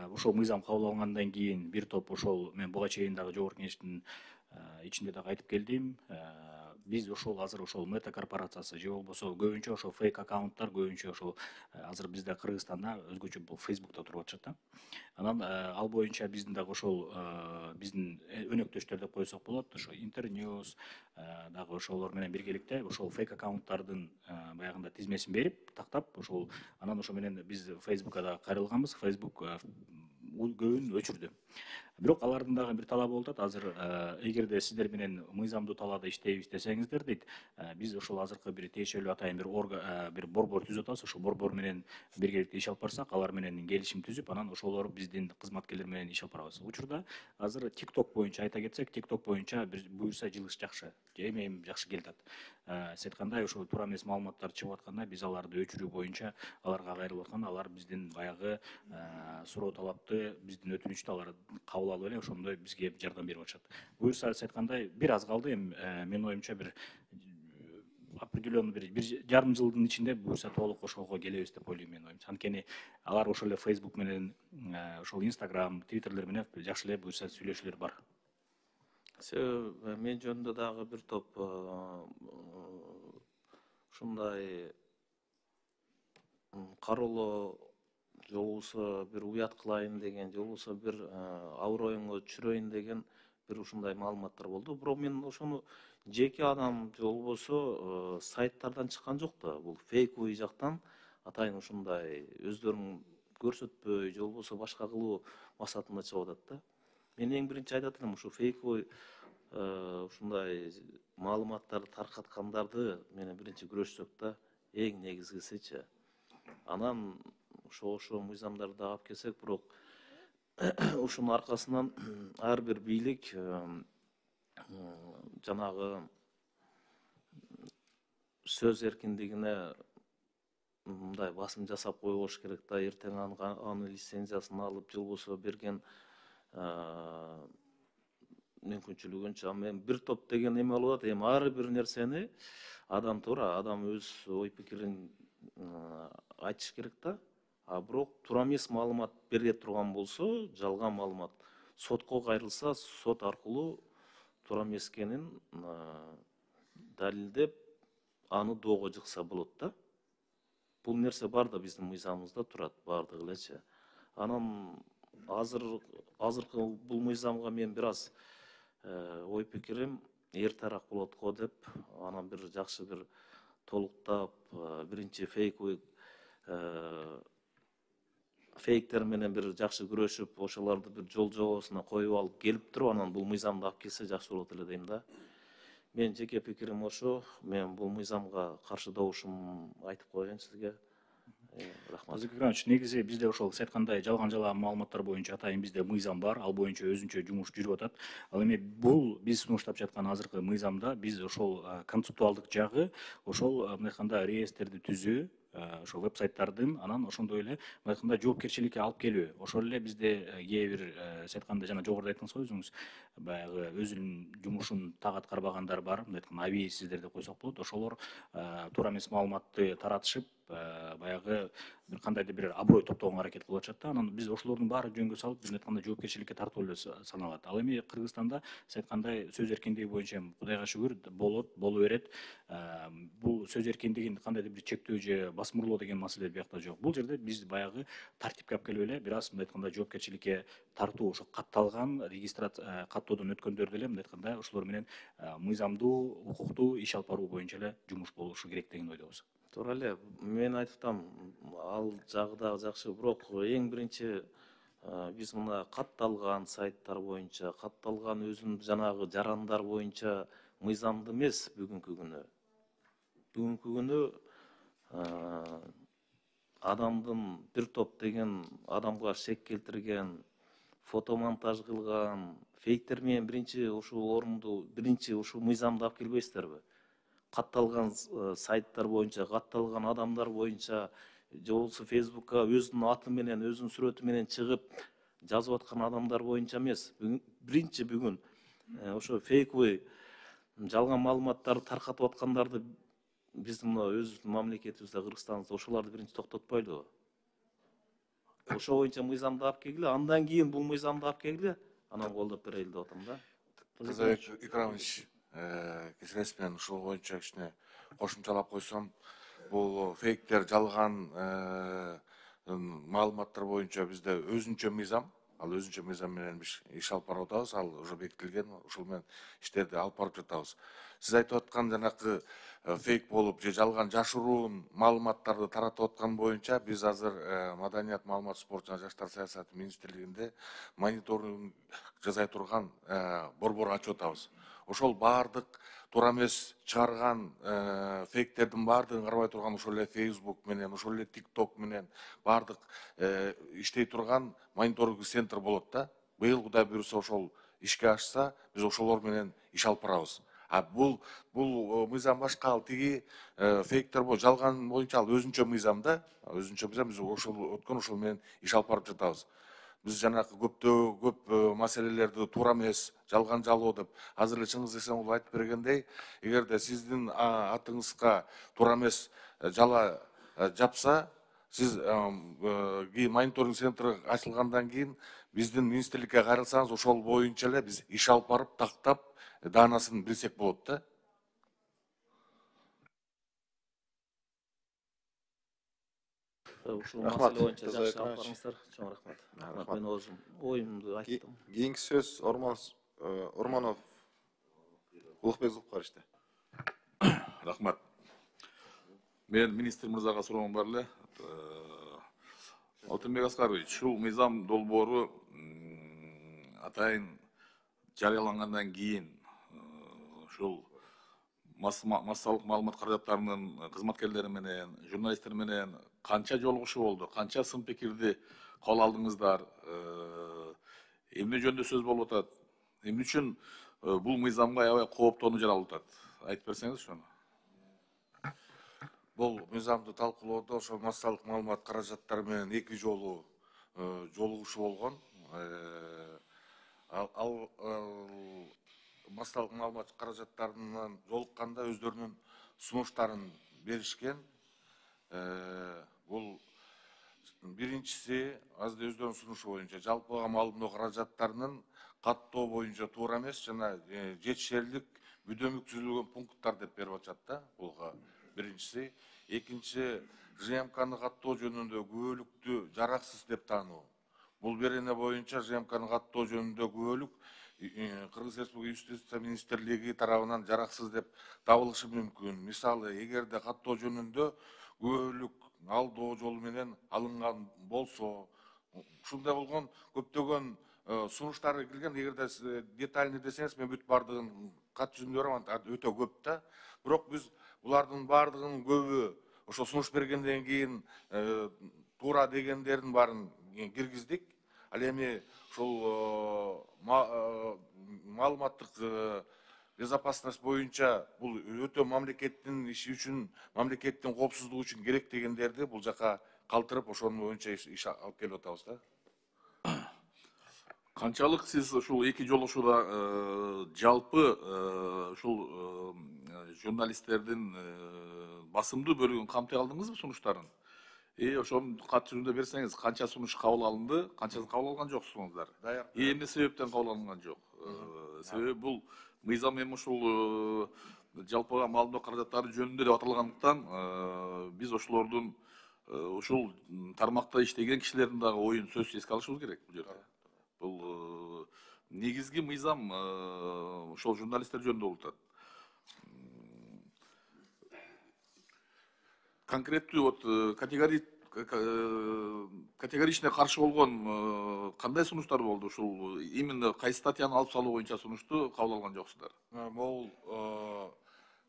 ошол мыйзам кабыл алынгандан кийин бир топ ошол мен буга чейин дагы жогорку кеңештин ичинде дагы айтып келдим. Биз ошол азыр ошол мета корпорациясы же болбосо көбүнчө ошол фейк аккаунттар көбүнчө ошол азыр бизде Кыргызстанда өзгөчө бул Facebook'та туруп атышат да. Анан ал боюнча биздин дагы ошол биздин өнөктөштөр деп койсок болот, ошо Интерньюз дагы ошолор менен биргеликте ошол фейк аккаунттардын баягында тизмесин берип, тактап ошол анан ошо менен биз Facebook'ка да кайрылганбыз. Facebook көбүн өчүрдү. Бирок алардын дагы бир талабы болуп атат. Азыр эгерде сиздер менен мыйзамдуу талаада иштейбиз десеңиздер дейт, биз ошол азыркы бир тиешелүү атайын бир борбор түзүп атабыз. Ошол борбор менен биргеликте иш алып барсак, алар менен келишим түзүп, анан ошолор биздин кызматкерлер менен иш алып барабыз. Учурда азыр TikTok боюнча айта кетсек, TikTok боюнча буюрса жылыш жакшы, эми жакшы келип атат. Сиз айткандай ошол туура эмес маалыматтар чыгып атканда биз аларды өчүрүү боюнча аларга кайрылып атканда, алар биздин баягы суроо талапты, биздин өтүнүчтү алар кабыл алып эле ошондой бизге жардам берип атышат. Буюрса сиз айткандай бир аз калды, эми менин оюмча бир определенный бир жарым жылдын ичинде буюрса толук ошого келебиз деп ойлойм менин оюмча. Анткени алар ошол эле Facebook менен ошол Instagram, Twitter'лер менен жакшы эле буюрса сүйлөшүүлөр бар. Мен жөнүндө дагы бир топ ушундай кароолоо же болбосо бир уят кылайын деген, же болбосо бир ауыр оюңо түшүрөйүн деген бир ушундай маалыматтар болду. Бирок мен ошону жеке адам же болбосо сайттардан чыккан жок да. Бул фейковый жактан атайын ушундай өздөрүн көрсөтпөй же болбосо башка кылуу максатында чыгып атат да. Мен эң биринчи айтат элем, ушу фейковый ушундай маалыматтарды таркаткандарды менен биринчи күрөшсөк да, эң негизгисичи. Анан ошо мыйзамдарды алып келсек, бирок ушунун аркасынан ар бир бийлик жанагы сөз эркиндигине мындай басым жасап койбош керек да. Эртең аны лицензиясын алып же болбосо берген мүмкүнчүлүгүнчө. Мен бир топ деген эме болуп атат. Эми ар бир нерсени адам туура, адам өз ой пикирин айтыш керек да. Бирок туура эмес маалымат бере турган болсо, жалган маалымат сотко кайрылса, сот аркылуу туура эмес экенин далилдеп, аны доого жыкса болот да. Бул нерсе бар да биздин мыйзамыбызда турат баардыгы элечи. Анан азыркы бул мыйзамга мен бир аз ой пикирим эртерээк болот го деп, анан бир жакшы бир толуктап, биринчи фейктер менен бир жакшы күрөшүп, ошолорду бир жол жобосуна коюп алып келип туруп, анан бул мыйзамды алып келсе жакшы болот эле дейм да. Мен жеке пикирим ошо. Мен бул мыйзамга каршы добушум айтып коеюн сизге. Рахмат. Тазабек Иванович, негизи бизде ошол сиз айткандай жалган жала маалыматтар боюнча атайын бизде мыйзам бар, ал боюнча өзүнчө жумуш жүрүп атат. Ал эми бул биз сунуштап жаткан азыркы мыйзамда биз ошол концептуалдык жагы ошол мындай айтканда реестрди түзүү, ошол веб-сайттардын анан ошондой эле мындай айтканда жоопкерчиликке алып келүү. Ошол эле бизде кээ бир сиз айткандай жана жогоруда айттыңыз го өзүңүз, баягы өзүнүн жумушун так аткарбагандар бар, мындай айтканда абийсиздер деп койсок болот. Ошолор туура эмес маалыматты таратышып, баягы бир кандайдыр бир аброй топтогонго аракет кылып атышат да. Анан биз ошолордун баарын жөнгө салып, биз айткандай жоопкерчиликке тартуу эле саналат. Ал эми Кыргызстанда сиз айткандай сөз эркиндиги боюнча Кудайга шүгүр боло берет. Бул сөз эркиндигин кандайдыр бир чектөө же басмырлоо деген маселе биякта жок. Бул жерде биз баягы тартипке алып келип эле бир аз мындай айтканда жоопкерчиликке тартуу, ошо катталган регистрация каттоодон өткөндөрдү эле мындай айтканда ошолор менен мыйзамдуу, укуктуу иш алып баруу боюнча эле жумуш болушу керек деген ойдобуз. Туура эле, мен айтып атам, ал жагы дагы жакшы, бирок эң биринчи биз мына катталган сайттар боюнча, катталган өзүнүн жанагы жарандар боюнча мыйзамды эмес бүгүнкү күнү. Бүгүнкү күнү адамдын бир топ деген адамга шек келтирген, фотомонтаж кылган фейктер менен биринчи ушул орунду, биринчи ушул мыйзамды алып келбейсиздерби? Катталган сайттар боюнча, катталган адамдар боюнча, же болбосо Фейсбукка өзүнүн аты менен, өзүнүн сүрөтү менен чыгып жазып аткан адамдар боюнча эмес. Биринчи бүгүн ошо фейковый жалган маалыматтарды таркатып аткандарды биздин мына өзүбүздүн мамлекетибизде, Кыргызстандыбызда ошолорду биринчи токтотпойлубу? Ошо боюнча мыйзамды алып келгиле, андан кийин бул мыйзамды алып келгиле, анан колдоп берели деп атам да. Казабек Икрамович, кечиресиз, мен ушул боюнча кичине кошумчалап койсом, бул фейктер, жалган маалыматтар боюнча бизде өзүнчө мыйзам, ал өзүнчө мыйзам менен биз иш алып барып атабыз, ал уже бекитилген, ушул менен иштерди алып барып жатабыз. Сиз айтып аткан жанакы фейк болуп же жалган жашыруун маалыматтарды таратып аткан боюнча биз азыр Маданият, маалымат, спорт жана жаштар саясаты министрлигинде мониторинг жасай турган борбор ачып атабыз. Ошол баардык туура эмес чыгарган фейктердин баардыгын карабай турган ошол эле Facebook менен, ошол эле TikTok менен баардык иштей турган мониторинг центр болот да. Быйыл Кудай буйруса ошол ишке ашса, биз ошолор менен иш алып барабыз. Бул мыйзам башка, ал тиги фейктер жалган боюнча ал өзүнчө мыйзам да. Өзүнчө мыйзам, биз ошол ошол менен иш алып барып жатабыз. Биз жанакы көп маселелерди туура эмес, жалган жалоо деп азыр эле Чыңгыз Эсенкулов айтып бергендей, эгерде сиздин атыңызга туура эмес жала жапса, сиз мониторинг центр ачылгандан кийин биздин министрликке кайрылсаңыз, ошол боюнча эле биз иш алып барып, тактап, даанасын билсек болот да. Ушул маселе боюнча жакшы алып барыңыздар. Чоң рахмат. Мен өзүм оюмду айттым. Кийинки сөз Ормонов Улукбек Зулкаровичте. Рахмат. Мен министр мырзага суроом бар эле. Алтынбек Аскарович, ушул мыйзам долбоору атайын жарыялангандан кийин ушул массалык маалымат каражаттарынын кызматкерлери менен, журналисттер менен канча жолугушуу болду, канча сын пикирди кабыл алдыңыздар, эмне жөнүндө сөз болуп атат, эмне үчүн бул мыйзамга аябай кооптонуу жаралып атат, айтып берсеңиз ошону. Бул мыйзамды талкуулоодо ошо массалык маалымат каражаттары менен эки жолу жолугушуу болгон. Ал массалык маалымат каражаттарынан жолукканда өздөрүнүн сунуштарын беришкен. Бул биринчиси, азыр өздөрүнүн сунушу боюнча жалпыга маалымдоо каражаттарынын каттоо боюнча туура эмес жана жетишерлик бүдөмүк түзүлгөн пункттар деп берип атышат да. Булга биринчиси. Экинчи, ЖМКны каттоо жөнүндө күбөлүктү жараксыз деп таануу. Бул берене боюнча ЖМКны каттоо жөнүндө күбөлүк Кыргыз Республикасы Юстиция министрлиги тарабынан жараксыз деп табылышы мүмкүн. Мисалы, эгерде каттоо жөнүндө күбөлүк алдоо жолу менен алынган болсо, ушундай болгон көптөгөн сунуштар кирген. Эгерде детальный десеңиз, мен бүт баардыгын кат жүзүндө барам, өтө көп да. Бирок биз булардын баардыгынын көбү ошо сунуш бергенден кийин туура дегендердин баарын киргиздик. Ал эми ушул маалыматтык безопасность боюнча бул өтө мамлекеттин иши үчүн, мамлекеттин коопсуздугу үчүн керек дегендерди бул жака калтырып, ошонун боюнча иш алып келип атабыз да. Канчалык сиз ушул эки жолугушууда жалпы ушул журналисттердин басымдуу бөлүгүн камтый алдыңызбы сунуштарын? Ошонун кат жүзүндө берсеңиз, канча сунуш кабыл алынды, канчасын кабыл алган жоксуңуздар? Эмне себептен кабыл алынган жок? Себеби бул мыйзам эми ушул жалпыга маалымдоо каражаттары жөнүндө деп аталгандыктан биз ошолордун ушул тармакта иштеген кишилердин дагы оюн сөзсүз эске алышыбыз керек бул жерде. Бул негизги мыйзам ошол журналисттер жөнүндө болуп атат. Конкреттүү вот категоричный каршы болгон кандай сунуштар болду? Ушул именно кайсы статьяны алып салуу боюнча сунушту кабыл алган жоксуздар? Бул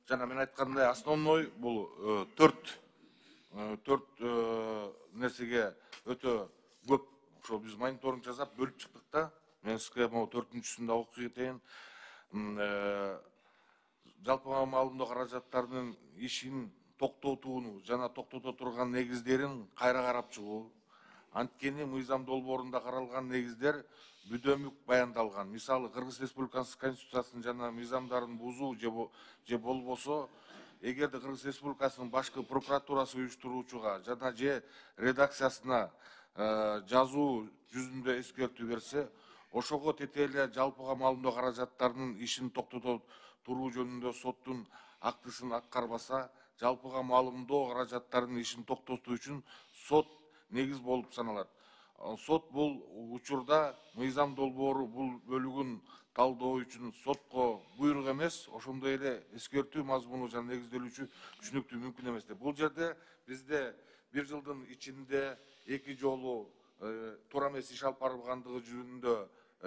жана мен айткандай основной бул төрт нерсеге өтө көп ошол биз мониторинг жасап бөлүп чыктык да. Мен сизге могу төртүнчүсүн да окуп кетейин. Жалпыга маалымдоо каражаттарынын ишин токтотууну жана токтото турган негиздерин кайра карап чыгуу. Анткени мыйзам долбоорунда каралган негиздер бүдөмүк баяндалган. Мисалы, Кыргыз Республикасынын Конституциясын жана мыйзамдарын бузуу же болбосо, эгерде Кыргыз Республикасынын башкы прокуратурасы уюштуруучуга жана же редакциясына жазуу жүзүндө эскертүү берсе, ошого тете эле жалпыга маалымдоо каражаттарынын ишин токтото туруу жөнүндө соттун актысын аткарбаса, жалпыга маалымдоо каражаттарынын ишин токтотуу үчүн сот негиз болуп саналат. Сот бул учурда мыйзам долбоору бул бөлүгүн талдоо үчүн сотко буйрук эмес, ошондой эле эскертүү мазмуну жана негизделүүчү түшүнүктүү мүмкүн эмес деп. Бул жерде бизде бир жылдын ичинде эки жолу туура эмес иш алып барылгандыгы жөнүндө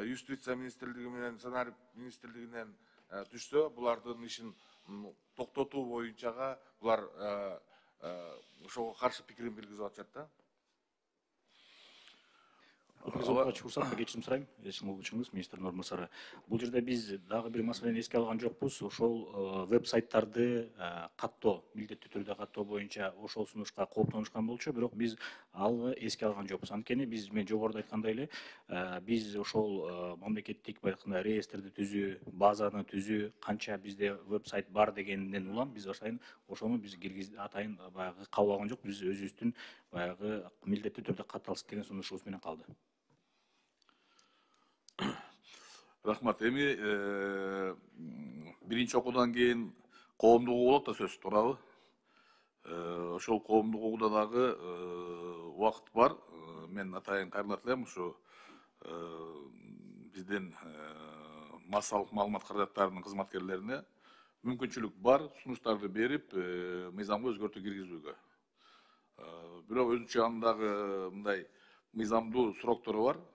юстиция министрлиги менен санарип министрлигинен түшсө, булардын ишин токтотуу боюнчага булар ошого каршы пикирин билгизип атышат да. Уруксатка кечирим сурайм, болчуңуз министрдин орун басары. Бул жерде биз дагы бир маселени эске алган жокпуз. Ошол веб-сайттарды каттоо, милдеттүү түрдө каттоо боюнча ошол сунушка кооптонушкан болчу, бирок биз аны эске алган жокпуз. Анткени мен жогоруда айткандай эле, биз ошол мамлекеттик байкында реестрди түзүү, базаны түзүү, канча бизде веб-сайт бар дегенден улам биз ошону биз атайын баягы кабыл алган жок. Биз өзүбүздүн баягы милдеттүү түрдө катталсын деген сунушубуз менен калды. Рахмат. Эми биринчи окуудан кийин коомдук угуу болот да сөзсүз, туурабы? Ошол коомдук угууда дагы убакыт бар. Мен атайын кайрылат элем ушу биздин массалык маалымат каражаттарынын кызматкерлерине мүмкүнчүлүк бар сунуштарды берип, мыйзамга өзгөртүү киргизүүгө. Бирок өзүнчө андагы мындай мыйзамдуу сроктору бар.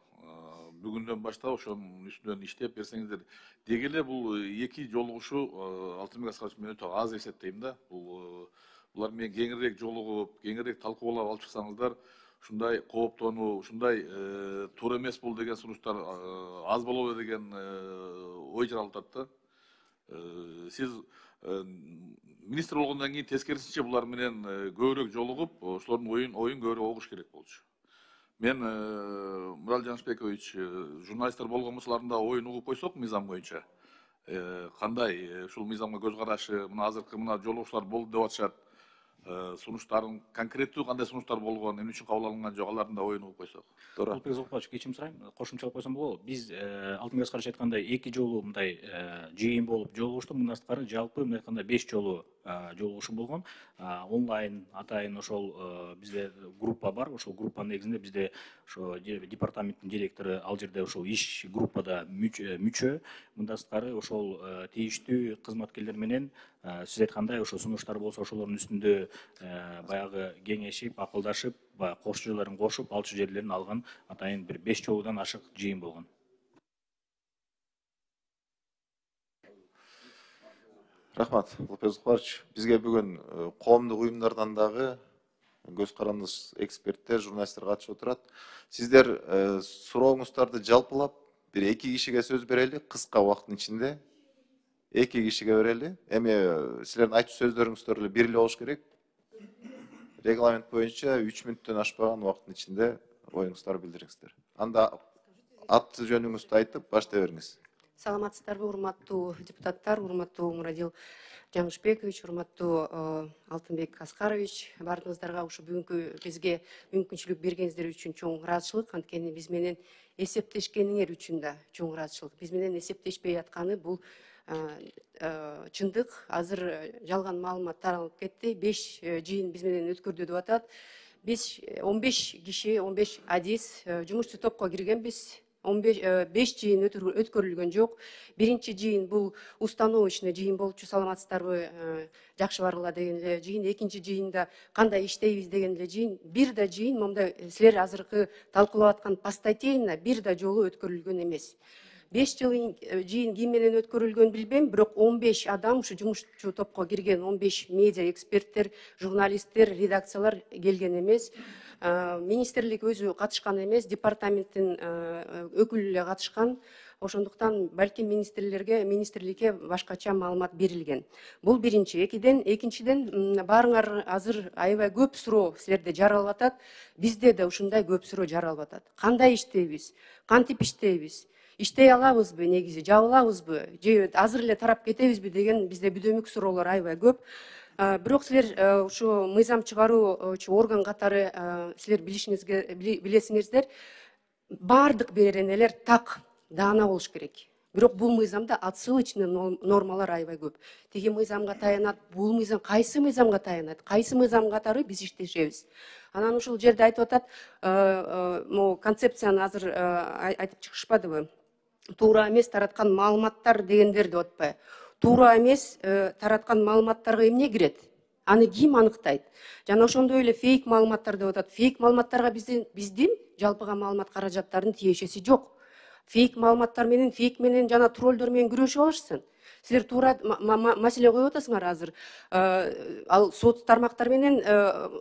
Бүгүндөн баштап ошонун үстүнөн иштеп берсеңиздер. Деги эле бул эки жолугушуу Алтынбек Аскарович мен өтө аз эсептейм да. Булар менен кеңирээк жолугуп, кеңирээк талкуулап алып чыксаңыздар, ушундай кооптонуу, ушундай туура эмес бул деген сунуштар аз болобу деген ой жаралып атат да. Сиз министр болгондон кийин тескерисинче булар менен көбүрөөк жолугуп, ошолордун оюн көбүрөөк угуш керек болчу. Мен Мурал Жанышбекович, журналисттер болгон болсолардын оюн угуп койсок мыйзам боюнча, кандай ушул мыйзамга көз карашы, мына азыркы мына жолугушуулар болду деп атышат, сунуштарын конкреттүү кандай сунуштар болгон, эмне үчүн кабыл алынган жок, алардын да оюн угуп койсок. Туура. Кечирим сурайм, кошумчалап койсом болобу? Биз Алтынбек Аскарович айткандай эки жолу мындай жыйын болуп жолугуштук, мындан сырткары жалпы мындай айтканда 5 жолу жолугушуу болгон. Онлайн атайын ошол бизде группа бар. Ошол группанын негизинде бизде ошо департаменттин директору ал жерде ошол иш группада мүчө. Мындан сырткары ошол тийиштүү кызматкерлер менен сиз айткандай ошо сунуштар болсо ошолордун үстүндө баягы кеңешип, акылдашып, кош жерлерин кошуп, алчу жерлерин алган атайын бир 5 жолудан ашык жыйын болгон. Рахмат, Алтынбек Аскарович. Бизге бүгүн коомдук уюмдардан дагы көз карандыш эксперттер, журналисттер катышып отурат. Сиздер сурооңуздарды жалпылап бир 2 кишиге сөз берели, кыска убакыттын ичинде 2 кишиге берели. Эми силердин айтуу сөздөрүңүздөр эле бир эле болуш керек. Регламент боюнча 3 мүнөттөн ашпаган убакыттын ичинде оюңуздарды билдириңиздер. Анда аты жөнүңүздү айтып баштай бериңиз. Саламатсыздарбы, урматтуу депутаттар, урматтуу Мурадил Жаңышбекович, урматтуу Алтынбек Аскарович, баарыңыздарга ушу бүгүнкү бизге мүмкүнчүлүк бергениңиздер үчүн чоң ыраазычылык. Анткени биз менен эсептешкениңер үчүн да чоң ыраазычылык. Биз менен эсептешпей атканы бул чындык. Азыр жалган маалымат таралып кетти. 5 жыйын биз менен өткөрдү деп атат. Биз 15 киши, 15 адис жумушчу топко киргенбиз. 5 жыйын өткөрүлгөн жок. Биринчи жыйын бул установочный жыйын болчу, саламатсыздарбы, жакшы баргыла деген эле жыйын. Экинчи жыйында кандай иштейбиз деген эле жыйын. Бир да жыйын момундай силер азыркы талкуулап аткан постатейно бир да жолу өткөрүлгөн эмес. 5 жыйын ким менен өткөрүлгөн билбейм, бирок 15 адам ушу жумушчу топко кирген, 15 медиа эксперттер, журналисттер, редакциялар келген эмес. Министрлик өзү катышкан эмес, департаменттин өкүлү эле катышкан. Ошондуктан балким министрликке башкача маалымат берилген. Бул биринчи. Экинчиден баарыңар азыр аябай көп суроо силерде жаралып атат. Бизде да ушундай көп суроо жаралып атат. Кандай иштейбиз? Кантип иштейбиз? Иштей алабызбы негизи, жабылабызбы? Же азыр эле тарап кетебизби деген бизде бүдөмүк суроолор аябай көп. Бирок силер ушу мыйзам чыгаруучу орган катары силер билесиңиздер, баардык беренелер так, даана болуш керек. Бирок бул мыйзамда отсылочный нормалар аябай көп. Тиги мыйзамга таянат, бул мыйзам кайсы мыйзамга таянат, кайсы мыйзам катары биз иштешебиз. Анан ушул жерде айтып атат, могу концепцияны азыр айтып чыгышпадыбы? Туура эмес тараткан маалыматтар дегендер деп атпайбы? Туура эмес тараткан маалыматтарга эмне кирет? Аны ким аныктайт? Жана ошондой эле фейк маалыматтар деп атат. Фейк маалыматтарга биздин жалпыга маалымат каражаттарынын тиешеси жок. Фейк маалыматтар менен, фейк менен жана троллдор менен күрөшүп алышсын. Силер туура маселе коюп атасыңар азыр. Ал соц тармактар менен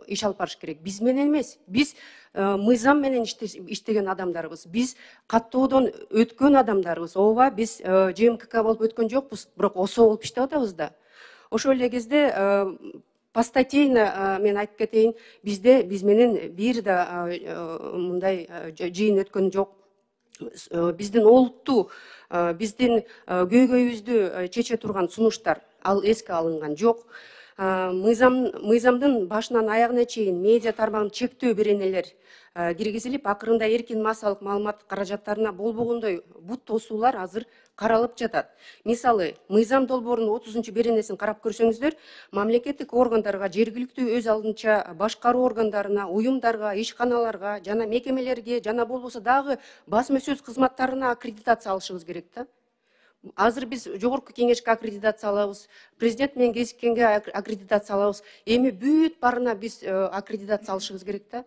иш алып барыш керек. Биз менен эмес. Биз мыйзам менен иштеген адамдарбыз. Биз каттоодон өткөн адамдарбыз. Ооба, биз ЖМКК болуп өткөн жокпуз, бирок ОСО болуп иштеп атабыз да. Ошол эле кезде постатейно мен айтып кетейин, биз менен бир да мындай жыйын өткөн жок. Биздин олуттуу, биздин көйгөйүбүздү чече турган сунуштар ал эске алынган жок. Мыйзамдын башынан аягына чейин медиа тармагын чектөө беренелер киргизилип, акырында эркин массалык маалымат каражаттарына болбогондой бут тосуулар азыр каралып жатат. Мисалы, мыйзам долбоорунун 30 беренесин карап көрсөңүздөр, мамлекеттик органдарга, жергиликтүү өз алдынча башкаруу органдарына, уюмдарга, ишканаларга жана мекемелерге, жана болбосо дагы басма сөз кызматтарына аккредитация алышыбыз керек да. Азыр биз жогорку кеңешке аккредитация алабыз, президент менен кезиккенге аккредитация алабыз. Эми бүт барына биз аккредитация алышыбыз керек да.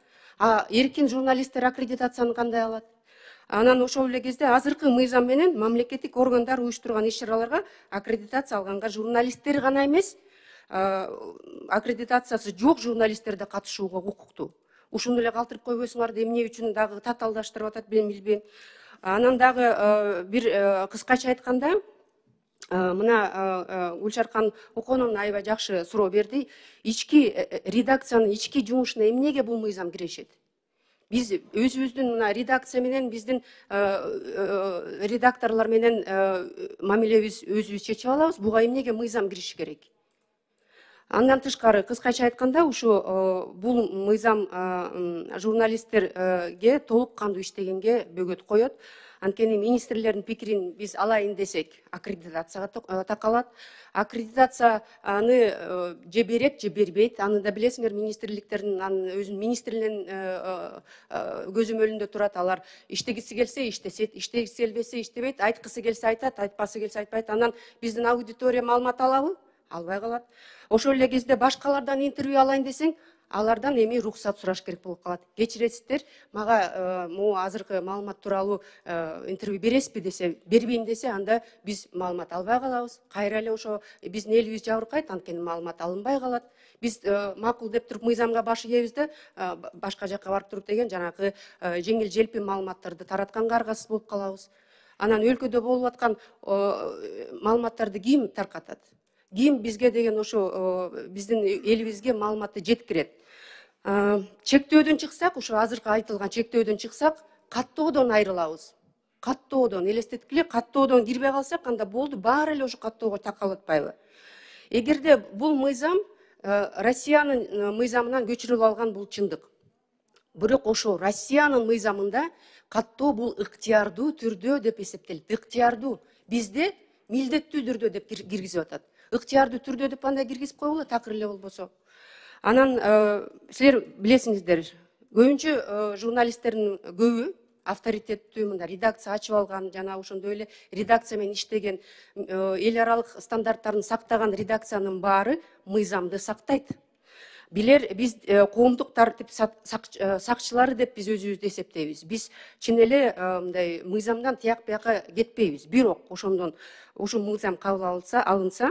Эркин журналисттер аккредитацияны кандай алат? Анан ошол эле кезде азыркы мыйзам менен мамлекеттик органдар уюштурган иш-чараларга аккредитация алганга журналисттер гана эмес, аккредитациясы жок журналисттер да катышууга укуктуу. Ушуну эле калтырып койбойсуңар, эмне үчүн дагы татаалдаштырып атат билбейм. Анан дагы бир кыскача айтканда, мына Гүлшаркан Оконун аябай жакшы суроо берди. Ички редакциянын ички жумушуна эмнеге бул мыйзам кирешет? Биз өзүбүздүн мына редакция менен, биздин редакторлор менен мамилебиз өзүбүз чечип алабыз. Буга эмнеге мыйзам кириши керек? Андан тышкары, кыскача айтканда, ушу бул мыйзам журналисттерге толук кандуу иштегенге бөгөт коет. Анткени министрлердин пикирин биз алайын десек, аккредитацияга такалат. Аккредитация аны же берет, же бербейт. Аны да билесиңер, министрликтердин өзүнүн министринин көзөмөлүндө турат. Алар иштегиси келсе иштесет, иштегиси келбесе иштебейт, айткысы келсе айтат, айтпасы келсе айтпайт. Анан биздин аудитория маалымат алабы? Албай калат. Ошол эле кезде башкалардан интервью алайын десең, алардан эми уруксат сураш керек болуп калат. Кечиресиздер, мага могу азыркы маалымат тууралуу интервью бересизби десе, бербейм десе, анда биз маалымат албай калабыз. Кайра эле ошо биздин элибиз жабыркайт, анткени маалымат алынбай калат. Биз макул деп туруп мыйзамга баш ийебиз да, башка жакка барып туруп деген жанагы жеңил желпи маалыматтарды таратканга аргасыз болуп калабыз. Анан өлкөдө болуп аткан маалыматтарды ким таркатат? Ким бизге деген ошо биздин элибизге маалыматты жеткирет? Чектөөдөн чыксак, ошо азыркы айтылган чектөөдөн чыксак, каттоодон айрылабыз. каттоодон элестеткиле, каттоодон кирбей калсак, анда болду, баары эле ошо каттоого такалып атпайбы? Эгерде бул мыйзам Россиянын мыйзамынан көчүрүлүп алган, бул чындык. Бирок ошо Россиянын мыйзамында каттоо бул ыктыярдуу түрдө деп эсептелет. Ыктыярдуу. Бизде милдеттүү түрдө деп киргизип атат. Ыктыярдуу түрдө деп андай киргизип койгула, такыр эле болбосо. Анан силер билесиңиздер, көбүнчө журналисттердин көбү авторитеттүү мында редакция ачып алган, жана ошондой эле редакция менен иштеген, эл аралык стандарттарын сактаган редакциянын баары мыйзамды сактайт. Билер, биз коомдук тартип сакчылары деп биз өзүбүздү эсептейбиз. Биз чын эле мындай мыйзамдан тияк бияка кетпейбиз. Бирок ошондон ушул мыйзам кабыл алынса,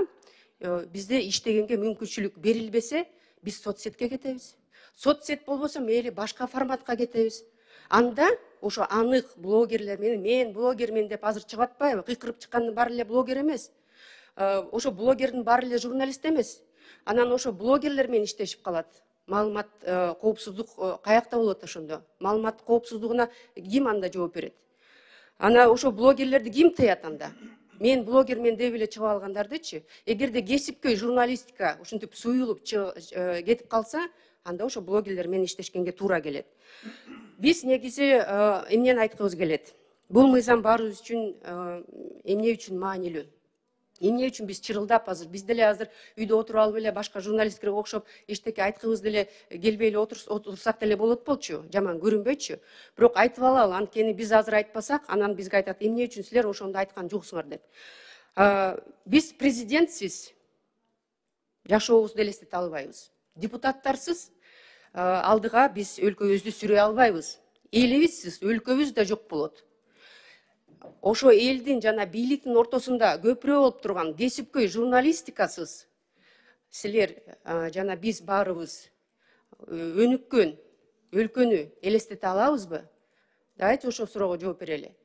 бизде иштегенге мүмкүнчүлүк берилбесе, биз соцсетке кетебиз. Соцсет болбосо мейли башка форматка кетебиз. Анда ошо анык блогерлер менен, мен блогермен деп азыр чыгып атпайбы? Кыйкырып чыккандын баары эле блогер эмес. Ошо блогердин баары эле журналист эмес. Анан ошо блогерлер менен иштешип калат. Маалымат коопсуздук каякта болот ошондо? Маалымат коопсуздугуна ким анда жооп берет? Ана ошо блогерлерди ким тыят анда? Мен блогермен деп эле чыгып алгандардычы, эгерде кесипкөй журналистика ушинтип суюлуп кетип калса, анда ошо блогерлер менен иштешкенге туура келет. Биз негизи эмнени айткыбыз келет? Бул мыйзам баарыбыз үчүн эмне үчүн маанилүү? Эмне үчүн биз чырылдап азыр, биз деле азыр үйдө отуруп алып эле башка журналисттерге окшоп эчтеке айткыбыз деле келбей эле отурсак деле болот болчу, жаман көрүнбөйчү. Бирок айтып алалы, анткени биз азыр айтпасак, анан бизге айтат, эмне үчүн силер ошондо айткан жоксуңар деп. Биз президентсиз жашообузду элестете албайбыз. Депутаттарсыз алдыга биз өлкөбүздү сүрөй албайбыз. Элибизсиз өлкөбүз да жок болот. Ошо элдин жана бийликтин ортосунда көпүрө болуп турган кесипкөй журналистикасыз силер жана биз баарыбыз өнүккөн өлкөнү элестете алабызбы? Давайте ошол суроого жооп берели.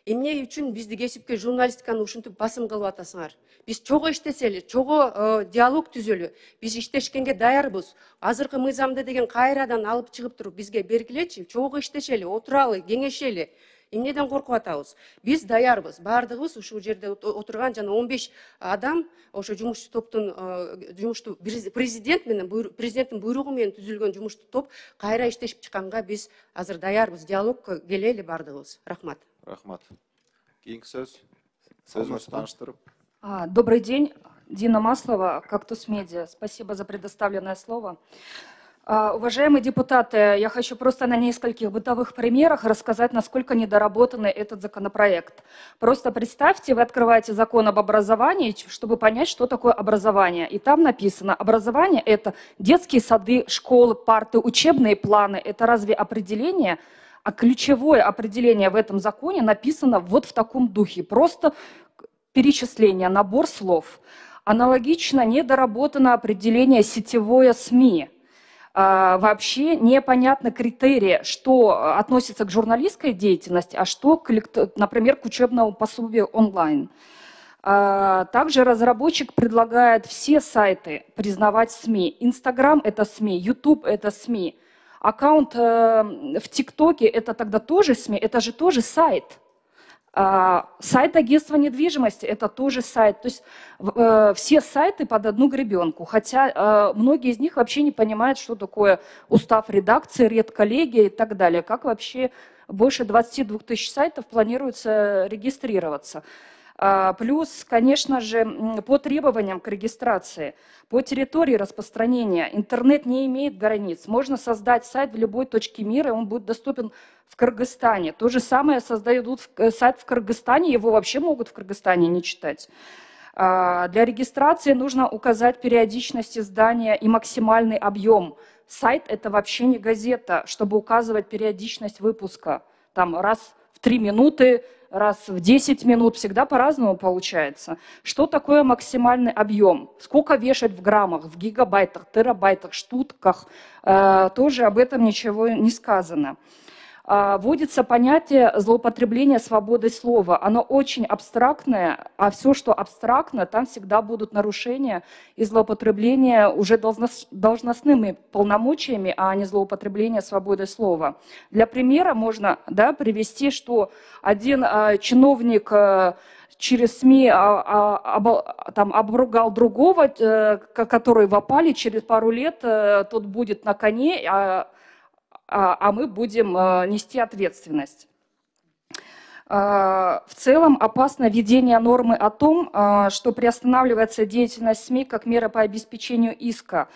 Эмне үчүн бизди кесипкөй журналистиканы ушинтип басым кылып атасыңар? Биз чогуу иштесели, чогуу диалог түзөлү, биз иштешкенге даярбыз. Азыркы мыйзамды деген кайрадан алып чыгып туруп бизге бергилечи, чогуу иштешели, отуралы, кеңешели. Эмнеден коркуп атабыз? Биз даярбыз. Бардыгыбыз ушул жерде отурган жана 15 адам ошо жумушчу топтун президент менен президенттин буйругу менен түзүлгөн жумуштуу топ кайра иштешип чыкканга биз азыр даярбыз. Диалогко келели бардыгыбыз. Рахмат. Рахмат. Кийинки сөз. Сөзүңүздү тааныштырып. Добрый день, Дина Маслова, «Кактус Медиа». Спасибо за предоставленное слово. Уважаемые депутаты, я хочу просто на нескольких бытовых примерах рассказать, насколько недоработанный этот законопроект. Просто представьте, вы открываете закон об образовании, чтобы понять, что такое образование. И там написано, образование – это детские сады, школы, парты, учебные планы. Это разве определение? А ключевое определение в этом законе написано вот в таком духе. Просто перечисление, набор слов. Аналогично недоработано определение «сетевое СМИ». Вообще непонятны критерии, что относится к журналистской деятельности, а что, например, к учебному пособию онлайн. Также разработчик предлагает все сайты признавать СМИ. Инстаграм – это СМИ, Ютуб – это СМИ. Аккаунт в ТикТоке – это тогда тоже СМИ, это же тоже сайт. Сайт агентства недвижимости – это тоже сайт. То есть все сайты под одну гребенку. Хотя многие из них вообще не понимают, что такое устав редакции, редколлегия и так далее. Как вообще больше 22 тысяч сайтов планируется регистрироваться. Плюс, конечно же, по требованиям к регистрации, по территории распространения. Интернет не имеет границ. Можно создать сайт в любой точке мира, и он будет доступен в Кыргызстане. То же самое создают сайт в Кыргызстане, его вообще могут в Кыргызстане не читать. Для регистрации нужно указать периодичность издания и максимальный объем. Сайт – это вообще не газета, чтобы указывать периодичность выпуска. Там раз в 3 минуты, раз в 10 минут, всегда по-разному получается. Что такое максимальный объем? Сколько вешать в граммах, в гигабайтах, терабайтах, штутках? Тоже об этом ничего не сказано. вводится понятие злоупотребления свободой слова. Оно очень абстрактное, а все, что абстрактно, там всегда будут нарушения и злоупотребления уже должностными полномочиями, а не злоупотребление свободой слова. Для примера можно привести, что один чиновник через СМИ обругал другого, который в опале, через пару лет тот будет на коне, а мы будем нести ответственность. В целом опасно введение нормы о том, что приостанавливается деятельность СМИ как мера по обеспечению иска.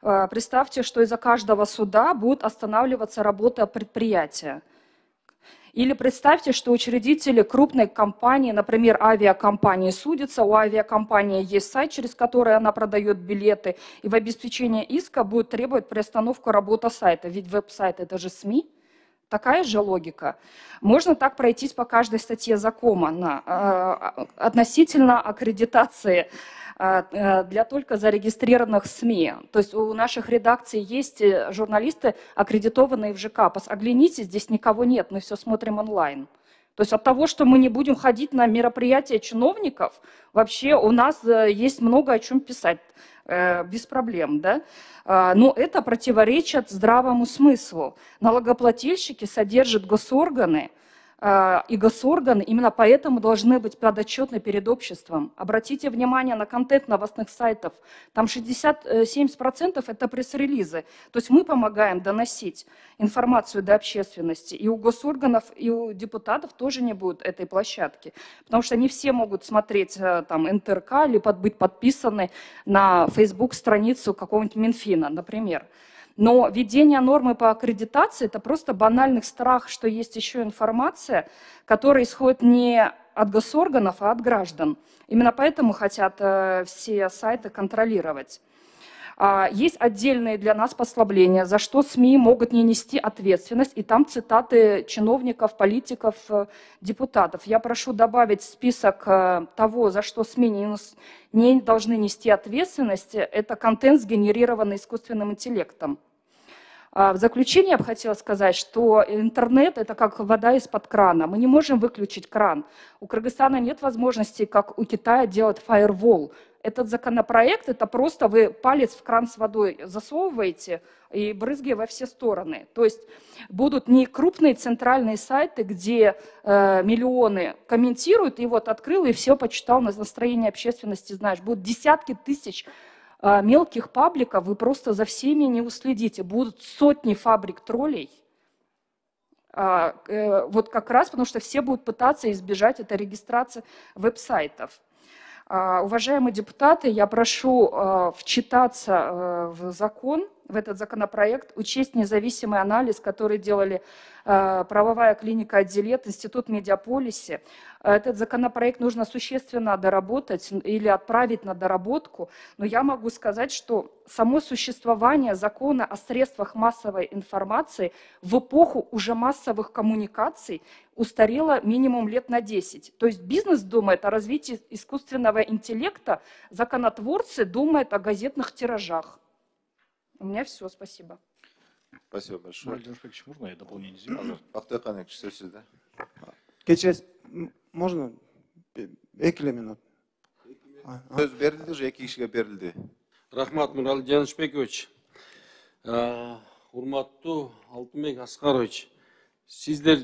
Представьте, что из-за каждого суда будет останавливаться работа предприятия. Или представьте, что учредители крупной компании, например, авиакомпании, судятся, у авиакомпании есть сайт, через который она продает билеты, и в обеспечении иска будет требовать приостановку работы сайта, ведь веб-сайт — это же СМИ. Такая же логика. Можно так пройтись по каждой статье закона относительно аккредитации для только зарегистрированных СМИ. То есть у наших редакций есть журналисты, аккредитованные в ЖК. Оглянитесь, здесь никого нет, мы все смотрим онлайн. То есть от того, что мы не будем ходить на мероприятия чиновников, вообще у нас есть много о чем писать, без проблем. Да? Но это противоречит здравому смыслу. Налогоплательщики содержат госорганы, и госорганы именно поэтому должны быть подотчетны перед обществом. Обратите внимание на контент новостных сайтов. Там 67% это пресс-релизы. То есть мы помогаем доносить информацию до общественности. И у госорганов, и у депутатов тоже не будет этой площадки. Потому что не все могут смотреть там НТРК или быть подписаны на Facebook-страницу какого-нибудь Минфина, например. Но введение нормы по аккредитации – это просто банальный страх, что есть еще информация, которая исходит не от госорганов, а от граждан. Именно поэтому хотят все сайты контролировать. Есть отдельные для нас послабления, за что СМИ могут не нести ответственность, и там цитаты чиновников, политиков, депутатов. Я прошу добавить в список того, за что СМИ не должны нести ответственность, это контент, сгенерированный искусственным интеллектом. В заключение я бы хотела сказать, что интернет – это как вода из-под крана. Мы не можем выключить кран. У Кыргызстана нет возможности, как у Китая, делать фаервол. Этот законопроект – это просто вы палец в кран с водой засовываете и брызги во все стороны. То есть будут не крупные центральные сайты, где миллионы комментируют, и вот открыл, и все почитал, на настроение общественности знаешь. Будут десятки тысяч мелких пабликов, вы просто за всеми не уследите. Будут сотни фабрик троллей. Вот как раз потому, что все будут пытаться избежать этой регистрации веб-сайтов. Уважаемые депутаты, я прошу вчитаться в закон, в этот законопроект, учесть независимый анализ, который делали правовая клиника «Отделет», Институт Медиаполисе. Этот законопроект нужно существенно доработать или отправить на доработку, но я могу сказать, что само существование закона о средствах массовой информации в эпоху уже массовых коммуникаций устарело минимум лет на 10. То есть бизнес думает о развитии искусственного интеллекта, законотворцы думают о газетных тиражах. У меня все, спасибо. Спасибо большое. Владимир Шпекович, можно я дополнение сделаю? Бактыхан экчи сөз сизде. Кечес, можно 2 минут? Сөз берилди же, 2 кишиге берилди. Рахмат, Мурал Жанышбекович. Урматтуу Алтынбек Аскарович, сиздер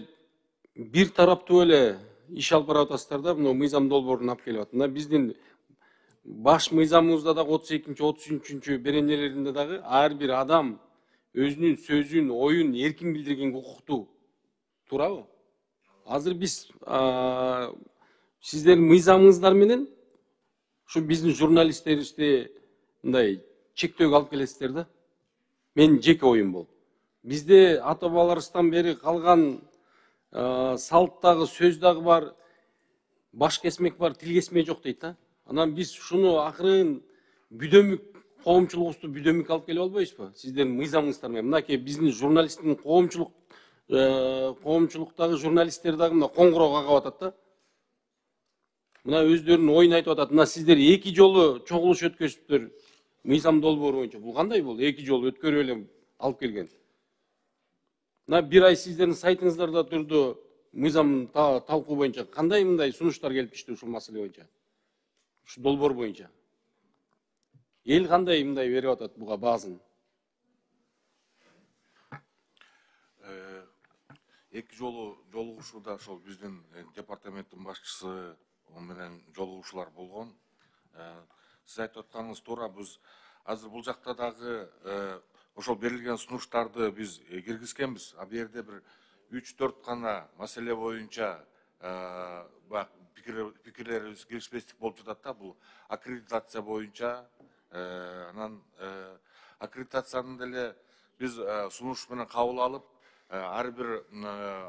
бир тараптуу эле иш алып барып атасыздар да, мына мыйзам долбоорун алып келип атат. Мына биздин баш мыйзамыбызда дагы 32-33 беренелеринде дагы ар бир адам өзүнүн сөзүн, оюн эркин билдирген укуктуу. Туурабы? Азыр биз сиздердин мыйзамыңыздар менен ушу биздин журналисттерибизди мындай чектөөгө алып келесиздер да. Менин жеке оюм бул. Бизде ата бабаларыбыздан бери калган салт дагы, сөз дагы бар, баш кесмек бар, тил кесмек жок дейт да. Анан биз ушуну акырын бүдөмүк коомчулугубузду бүдөмүк алып келип албайбызбы? Сиздердин мыйзамыңыздар менен. Мынакей биздин журналисттин коомчулуктагы журналисттер дагы мына коңгуроо кагып атат да. Мына өздөрүнүн оюн айтып атат. Мына сиздер 2 жолу чогулуш өткөзүптүр. Мыйзам долбоору боюнча. Бул кандай бул? 2 жолу өткөрүп эле алып келген. мына бир ай сиздердин сайтыңыздарда турду мыйзам талкуу боюнча кандай мындай сунуштар келип түштү ушул маселе боюнча, ушу долбоор боюнча? Эл кандай мындай берип атат буга баасын? Эки жолу жолугушууда ошол биздин департаменттин башчысы менен жолугушуулар болгон. Сиз айтып атканыңыз туура, биз азыр бул жакта дагы ошол берилген сунуштарды биз киргизгенбиз. А бу жерде бир 3-4 гана маселе боюнча пикирлерибиз келишпестик болуп жатат да. Бул аккредитация боюнча, анан аккредитацияны деле биз сунуш менен кабыл алып, ар бир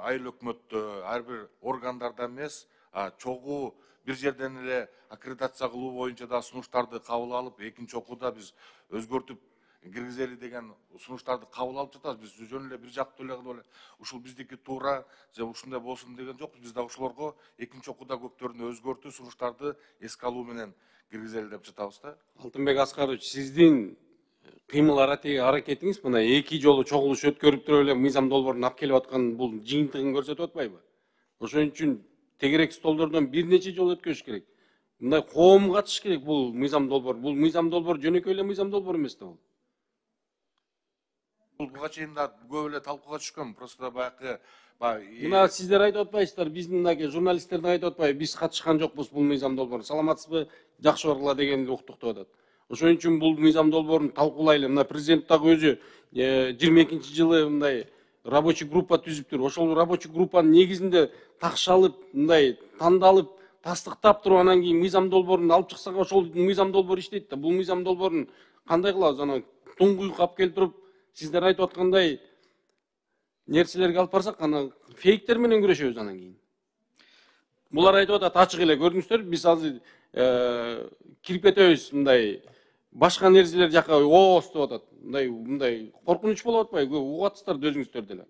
айыл өкмөттө, ар бир органдарда эмес, чогуу бир жерден эле аккредитация кылуу боюнча да сунуштарды кабыл алып, экинчи окууда биз өзгөртүп киргизели деген сунуштарды кабыл алып жатабыз. Биз жөн эле бир жактуу эле кылып эле ушул биздики туура же ушундай болсун деген жокпуз. Биз да ошолорго экинчи окууда көптөрүнө өзгөртүү сунуштарды эске алуу менен киргизели деп жатабыз да. Алтынбек Аскарович, сиздин кыймыл аракетиңиз мына эки жолу чогулуш өткөрүп туруп эле мыйзам долбоорун алып келип аткан бул жыйынтыгын көрсөтүп атпайбы? Ошон үчүн тегерек столдордон бир нече жол өткөрүш керек. Мындай коом катыш керек бул мыйзам долбоор. Бул мыйзам долбоор жөнөкөй эле мыйзам долбоор эмес да бул. Бул буга чейин да көп эле талкууга түшкөн. Просто баягы мына сиздер айтып атпайсыздар, биздин мынакей журналисттердин айтып атпайбы, биз катышкан жокпуз бул мыйзам долбоору. Саламатсызбы, жакшы баргыла дегенди уктуктап атат. Ошон үчүн бул мыйзам долбоорун талкуулайлы. Мына президент дагы өзү 22-жылы мындай рабочий группа түзүптүр. Ошол рабочий группанын негизинде такшалып, мындай тандалып, тастыктап туруп анан кийин мыйзам долбоорун алып чыксак, ошол мыйзам долбоор иштейт да. Бул мыйзам долбоорун кандай кылабыз? Анан туңгуйук алып келип туруп, сиздер айтып аткандай нерселерге алып барсак, анан фейктер менен күрөшөбүз анан кийин. Булар айтып атат, ачык эле көрдүңүздөр, биз азыр кирип кетебиз мындай башка нерселер жака оос деп атат. Мындай коркунуч болуп атпайбы? Угуп атсыздар өзүңүздөр деле.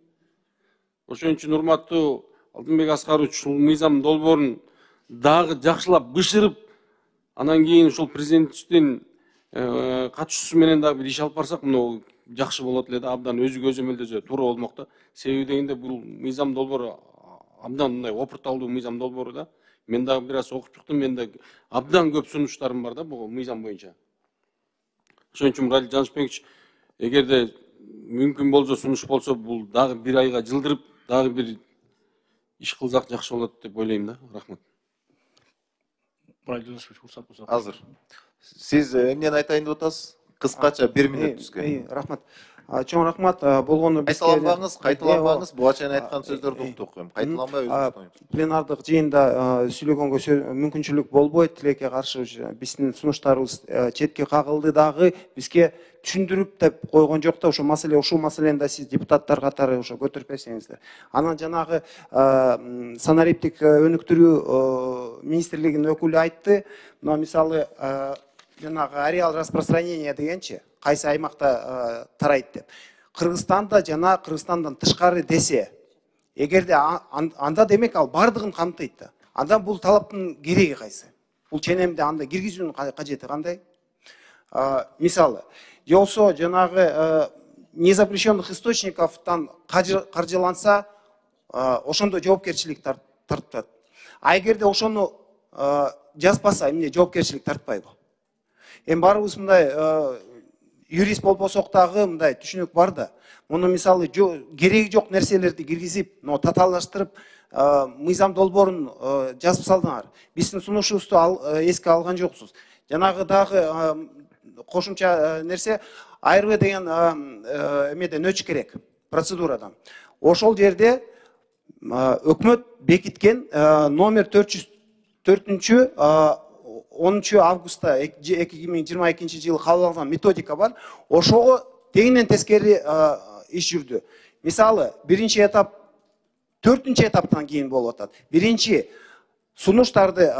Ошон үчүн урматтуу Алтынбек Аскарович, ушул мыйзам долбоорун дагы жакшылап бышырып, анан кийин ушул президенттин катышуусу менен дагы бир иш алып барсак, мына жакшы болот эле да, абдан өзү көзөмөлдөсө туура болмок да. Себеби дегенде бул мыйзам долбоору абдан мындай опурталдуу мыйзам долбоору да. Мен дагы бир аз окуп чыктым, менде абдан көп сунуштарым бар да бул мыйзам боюнча. Ошон үчүн Муралий Жанышбекович, эгерде мүмкүн болсо, сунуш болсо, бул дагы бир айга жылдырып, дагы бир иш кылсак жакшы болот деп ойлойм да. Рахмат. Муралий Жанышбекович, уруксат болсо. Азыр. Сиз эмнени айтайын деп атасыз? Кыскача 1 минут түзгөн. Рахмат. Чоң рахмат болгону кайталанбаңыз, буга чейин айткан сөздөрдү уктук. Кайталанбай өзүңүз. Пленардык жыйында сүйлөгөнгө мүмкүнчүлүк болбойт. Тилекке каршы биздин сунуштарыбыз четке кагылды дагы, бизге түшүндүрүп деп койгон жок да, ушул маселени да сиз депутаттар катары ошо көтөрүп берсеңиздер. Анан жанагы санариптик өнүктүрүү министрлигинин өкүлү айтты. Мына мисалы жанагы ареал распространения дегенчи, кайсы аймакта тарайт деп. Кыргызстанда жана Кыргызстандан тышкары десе, эгерде анда демек ал бардыгын камтыйт да. Анда бул талаптын кереги кайсы? Бул ченемде анда киргизүүнүн кажети кандай? Мисалы, же болсо жанагы незапрещенных источниковтан каржыланса, ошондо жоопкерчилик тартылат. А эгерде ошону жазбаса, эмне жоопкерчилик тартпайбы? Эми баарыбыз мындай юрист болбосок дагы мындай түшүнүк бар да. Муну мисалы кереги жок нерселерди киргизип, татаалаштырып, мыйзам долбоорун жазып салдыңар. Биздин сунушубузду эске алган жоксуз. Жанагы дагы кошумча нерсе, АРВ деген эмеден өтүш керек, процедурадан. Ошол жерде өкмөт бекиткен номер 404 10 августта 2022 жылы кабыл алган методика бар. Ошого тегинен тескери иш жүрдү. Мисалы, биринчи этап, 4-чү этаптан кийин болуп атат. Биринчи сунуштарды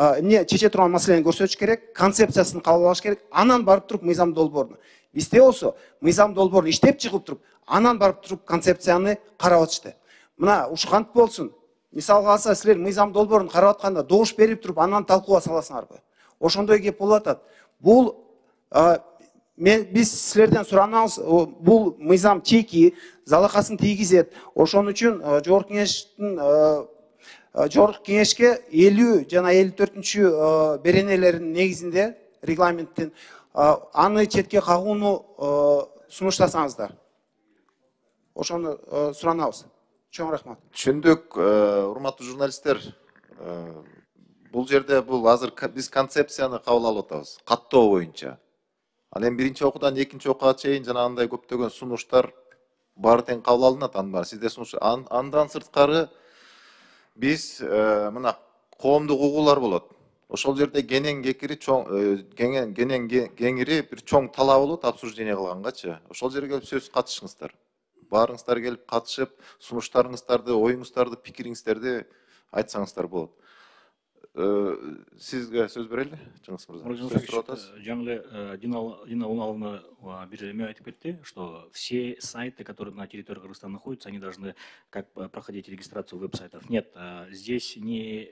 чече турган маселени көрсөтүш керек, концепциясын кабыл алыш керек, анан барып туруп мыйзам долбоорун. Бизде болсо мыйзам долбоорун иштеп чыгып туруп, анан барып туруп концепцияны карап атышты. Мына ушу кантип болсун? Мисалга алса, силер мыйзам долбоорун карап атканда добуш берип туруп, анан талкууга саласыңарбы? Ошондой кеп болуп атат. Бул биз силерден суранабыз, бул мыйзам чеки залакасын тийгизет. Ошон үчүн жогорку кеңешке 50 жана 54 беренелердин негизинде регламенттин аны четке кагууну сунуштасаңыздар. Ошону суранабыз. Чоң рахмат. Түшүндүк, урматтуу журналисттер. Бул жерде азыр биз концепцияны кабыл алып атабыз, каттоо боюнча. Ал эми биринчи окуудан экинчи окууга чейин жанагындай көптөгөн сунуштар баары тең кабыл алынат, анын баары сизде сунуш. Андан сырткары биз мына коомдук угуулар болот. Ошол жерде кенен кекири кеңири бир чоң талап болот обсуждение кылгангачы. Ошол жерге келип сөз катышыңыздар. Баарыңыздар келип катышып, сунуштарыңыздарды, оюңуздарды, пикириңиздерди айтсаңыздар болот. Сизге сөз берели, Жеңис мырза. Жаңы эле Дина Уналовна бир эме айтып кетти, что все сайты, которые на территории Кыргызстана находятся, они должны как проходить регистрацию веб-сайтов. Нет, здесь не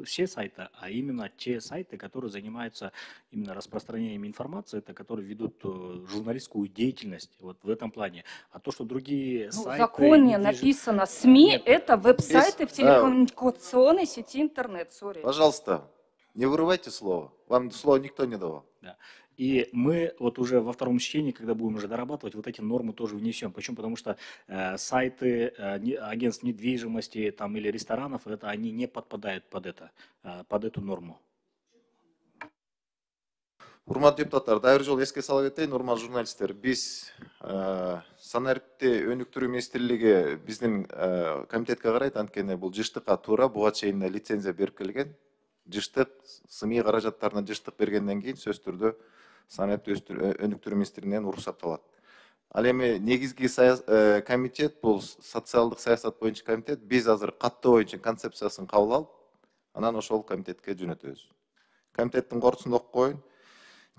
все сайты, а именно те сайты, которые занимаются именно распространением информации, это которые ведут журналистскую деятельность вот в этом плане. А то, что другие сайты... В законе написано СМИ, это веб-сайты в телекоммуникационной сети интернет. Пожалуйста, не вырывайте слово. Вам слово никто не давал. Да. И мы вот уже во втором чтении, когда будем уже дорабатывать, вот эти нормы тоже внесем. Почему? Потому что сайты агентств недвижимости там, или ресторанов, они не подпадают под эту норму. Урматтуу депутаттар, дагы бир жолу эске сала кетейин, урматтуу журналисттер. Биз санариптти өнүктүрүү министрлиги биздин комитетке карайт, анткени бул жыштыкка туура буга чейин лицензия берип келген. Жыштык, СМИ каражаттарына жыштык бергенден кийин сөзсүз түрдө санариптти өнүктүрүү министрлигинен уруксатталат. Ал эми негизги комитет, бул социалдык саясат боюнча комитет, биз азыр каттоо боюнча концепциясын кабыл алып, анан ошол комитетке жөнөтөбүз. Комитеттин корутуусун окуп коеюн.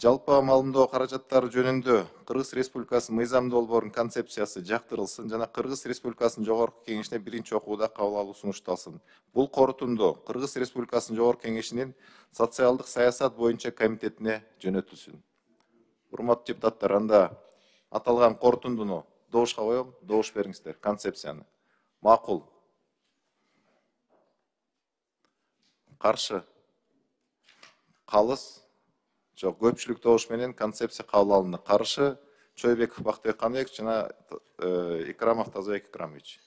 Жалпы маалымдоо каражаттары жөнүндө Кыргыз Республикасынын мыйзам долбоорунун концепциясы жактырылсын жана Кыргыз Республикасынын жогорку кеңешине биринчи окууда кабыл алуу сунушталсын. Бул корутунду Кыргыз Республикасынын жогорку кеңешинин социалдык саясат боюнча комитетине жөнөтүлсүн. Урматтуу депутаттар, анда аталган корутундуну добушка коем, добуш бериңиздер концепцияны. Макул. Каршы. Калыс. Жок, көпчүлүк добуш менен концепция кабыл алынды. Каршы Чойбеков Бактыбек Каныбекович жана Икрамов Тазабек Икрамович.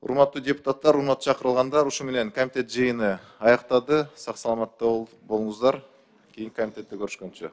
Урматтуу депутаттар, урматтуу чакырылгандар, ушу менен комитет жыйыны аяктады. Сак саламатта болуңуздар. Кийинки комитетте көрүшкөнчө.